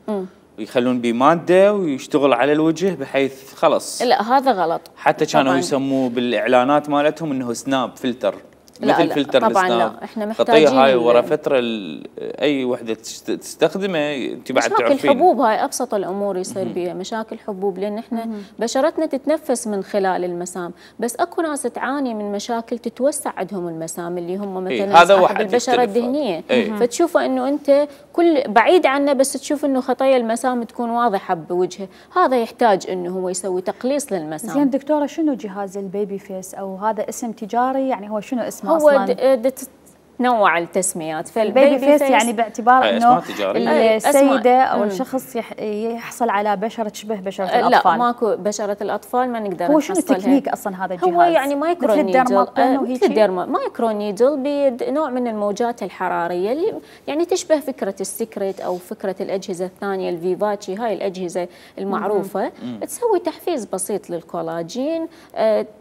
ويخلون به ماده ويشتغل على الوجه بحيث خلص. لا هذا غلط. حتى كانوا يسموه بالاعلانات مالتهم انه سناب فلتر، مثل فلتر طبعا السناب. لا، احنا محتاجين هاي ورا فتره اي وحده تستخدمه انت بعد تعرفين. مشاكل حبوب، هاي ابسط الامور يصير بها مشاكل حبوب، لان احنا بشرتنا تتنفس من خلال المسام، بس اكو ناس تعاني من مشاكل تتوسع عندهم المسام، اللي هم مثلا صاحب البشره الدهنيه، فتشوفه انه انت كل بعيد عنه بس تشوف انه خطايا المسام تكون واضحه بوجهه، هذا يحتاج انه هو يسوي تقليص للمسام. زين دكتوره، شنو جهاز البيبي فيس؟ او هذا اسم تجاري يعني؟ هو شنو اسمه هو اصلا؟ تنوع التسميات. فالبيبي فيس يعني باعتبار انه السيده او الشخص يحصل على بشره تشبه بشره الاطفال. لا ماكو بشره الاطفال ما نقدر هو شنو التكنيك اصلا هذا الجهاز؟ هو يعني مايكرو نيدل، مثل مايكرو نيدل بنوع من الموجات الحراريه اللي يعني تشبه فكره السكرت او فكره الاجهزه الثانيه الفيفاتشي، هاي الاجهزه المعروفه. تسوي تحفيز بسيط للكولاجين،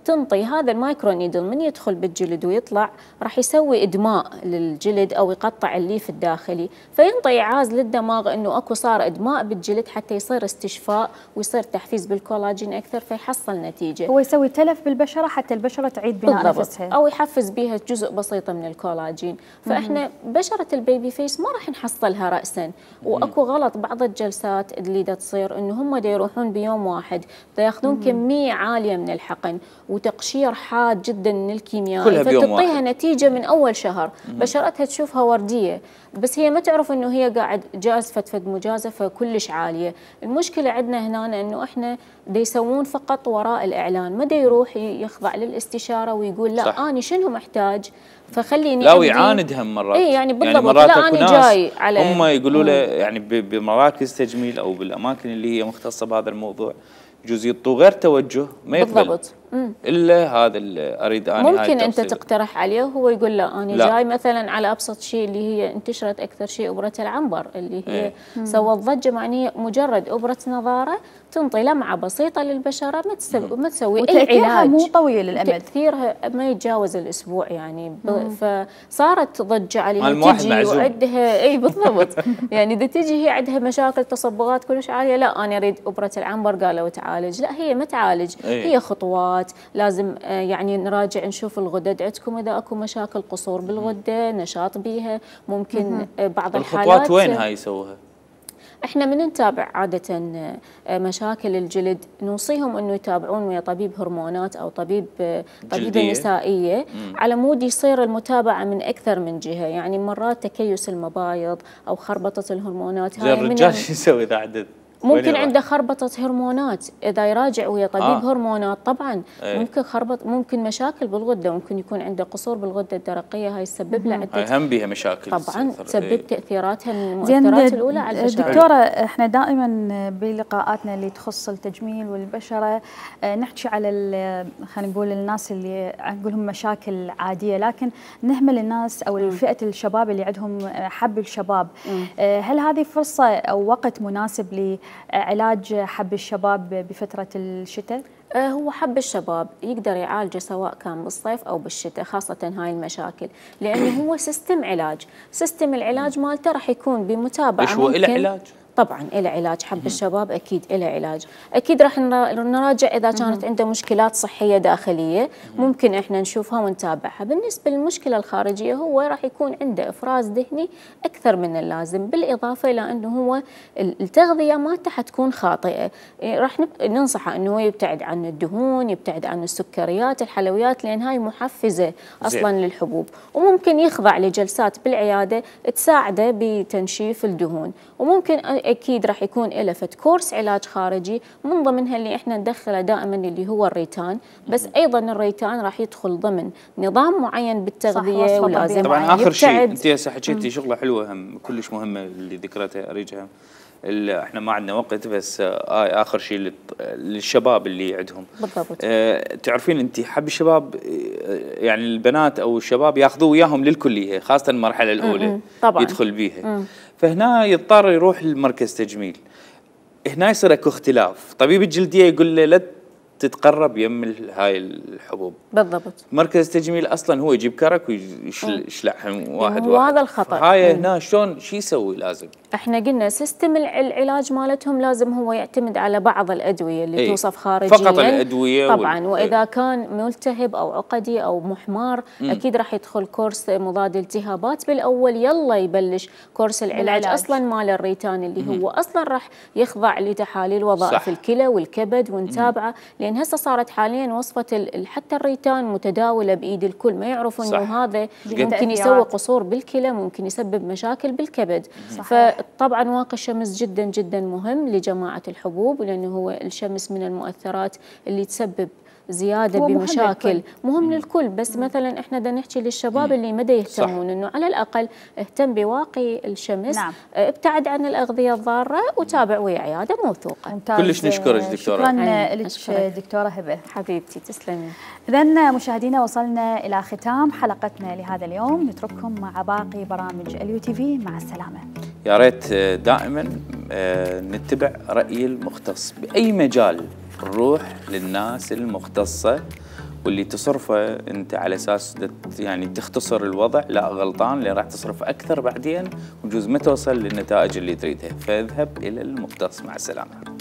تنطي هذا المايكرو نيدل من يدخل بالجلد ويطلع راح يسوي ادماء للجلد او يقطع الليف الداخلي، فينطي ايعاز للدماغ انه اكو صار ادماء بالجلد حتى يصير استشفاء ويصير تحفيز بالكولاجين اكثر، فيحصل نتيجه. هو يسوي تلف بالبشره حتى البشره تعيد بناء نفسها، او يحفز بها جزء بسيط من الكولاجين. فاحنا بشره البيبي فيس ما راح نحصلها راسا، واكو غلط بعض الجلسات اللي دا تصير انه هم دا يروحون بيوم واحد دا ياخذون كميه عاليه من الحقن وتقشير حاد جدا من الكيميائي، فتعطيها نتيجه من اول شهر. بشرتها تشوفها ورديه، بس هي ما تعرف انه هي قاعد فد مجازفه كلش عاليه. المشكله عندنا هنا انه احنا دا يسوون فقط وراء الاعلان، ما دا يروح يخضع للاستشاره ويقول لا انا شنو محتاج، فخليني لا ويعاندهم مرات. اي يعني بالضبط، لا انا جاي على هم يقولوا له يعني بمراكز تجميل او بالاماكن اللي هي مختصه بهذا الموضوع يجوز يعطوا غير توجه ما يقبل بالضبط. الا هذا اللي اريد انا. ممكن انت تقترح عليه وهو يقول لا انا جاي مثلا على ابسط شيء اللي هي انتشرت اكثر شيء ابره العنبر اللي هي سوت ضجه، معني مجرد ابره نظاره تنطي لمعه بسيطه للبشره، ما تسوي اي علاج، مو طويل الامد، تاثيرها ما يتجاوز الاسبوع يعني. فصارت ضجه عليها، تجي وعندها اي بالضبط يعني اذا تجي هي عندها مشاكل تصبغات كلش عاليه، لا انا اريد ابره العنبر قالوا تعالج، لا هي ما تعالج، هي خطوات لازم يعني نراجع نشوف الغدد عندكم اذا اكو مشاكل قصور بالغده، نشاط بيها، ممكن بعض الحالات. الخطوات وين هاي يسووها؟ احنا من نتابع عاده مشاكل الجلد نوصيهم انه يتابعون ويا طبيب هرمونات او طبيب النسائيه على مود يصير المتابعه من اكثر من جهه، يعني مرات تكيس المبايض او خربطه الهرمونات. هاي الرجال شو يسوي اذا عدد؟ ممكن عنده خربطة هرمونات، إذا يراجع ويا طبيب هرمونات طبعا ممكن ممكن مشاكل بالغدة، ممكن يكون عنده قصور بالغدة الدرقية، هاي تسبب له عدة هم بها مشاكل طبعا، تسبب تأثيراتها من المؤثرات الأولى على البشرة. دكتورة، احنا دائما بلقاءاتنا اللي تخص التجميل والبشرة نحكي على خلينا نقول الناس اللي نقولهم مشاكل عادية، لكن نهمل الناس أو فئة الشباب اللي عندهم حب الشباب. هل هذه فرصة أو وقت مناسب علاج حب الشباب بفترة الشتاء؟ هو حب الشباب يقدر يعالجه سواء كان بالصيف أو بالشتاء، خاصة هاي المشاكل، لأنه هو سيستم علاج. سيستم العلاج مالته راح يكون بمتابعة. إيش هو إله علاج؟ طبعا له علاج. حب الشباب اكيد له علاج. اكيد راح نراجع اذا كانت عنده مشكلات صحيه داخليه، ممكن احنا نشوفها ونتابعها. بالنسبه للمشكله الخارجيه هو راح يكون عنده افراز دهني اكثر من اللازم، بالاضافه الى انه هو التغذيه مالته حتكون خاطئه. راح ننصحه انه هو يبتعد عن الدهون، يبتعد عن السكريات، الحلويات، لان هاي محفزه اصلا للحبوب، وممكن يخضع لجلسات بالعياده تساعده بتنشيف الدهون. وممكن اكيد راح يكون له فد كورس علاج خارجي من ضمنها اللي احنا ندخله دائما اللي هو الريتان، بس ايضا الريتان راح يدخل ضمن نظام معين بالتغذيه، ولازم طبعا اخر شيء انت هسه حكيتي شغله حلوه هم كلش مهمه اللي ذكرتها اريجها. احنا ما عندنا وقت، بس اخر شيء للشباب اللي عندهم بالضبط. تعرفين انت حب الشباب، يعني البنات او الشباب ياخذوه وياهم للكليه، خاصه المرحله الاولى طبعا يدخل بيها، فهنا يضطر يروح لمركز تجميل. هنا يصير اكو اختلاف، طبيب الجلديه يقول له لا تتقرب يم هاي الحبوب. بالضبط. مركز التجميل اصلا هو يجيب كرك ويشلعهم واحد وهذا الخطا. هاي هنا شلون شو يسوي؟ لازم احنا قلنا سيستم العلاج مالتهم لازم هو يعتمد على بعض الادويه اللي توصف خارجيا فقط الادويه طبعا واذا كان ملتهب او عقدي او محمار اكيد راح يدخل كورس مضاد التهابات بالاول، يلا يبلش كورس العلاج اصلا مال الريتان اللي هو اصلا راح يخضع لتحاليل وظائف الكلى والكبد ونتابعه، لان هسه صارت حاليا وصفه حتى الريتان متداوله بايد الكل، ما يعرفوا انه هذا ممكن يسوي قصور بالكلى، ممكن يسبب مشاكل بالكبد. فطبعا واقي الشمس جدا جدا مهم لجماعه الحبوب، لانه هو الشمس من المؤثرات اللي تسبب زياده بمشاكل، مهم للكل، بس مثلا احنا بدنا نحكي للشباب اللي ما يهتمون انه على الاقل اهتم بواقي الشمس. ابتعد عن الاغذيه الضاره وتابع ويا عياده موثوقه. كلش نشكرك دكتوره. شكرا لك دكتوره هبه. حبيبتي تسلمي. اذا مشاهدينا وصلنا الى ختام حلقتنا لهذا اليوم، نترككم مع باقي برامج اليو تي في. مع السلامه. يا ريت دائما نتبع راي المختص باي مجال، نروح للناس المختصة واللي تصرفه انت على اساس يعني تختصر الوضع، لا غلطان، لان راح تصرف اكثر بعدين وجوز ما توصل للنتائج اللي تريدها، فاذهب الى المختص. مع السلامة.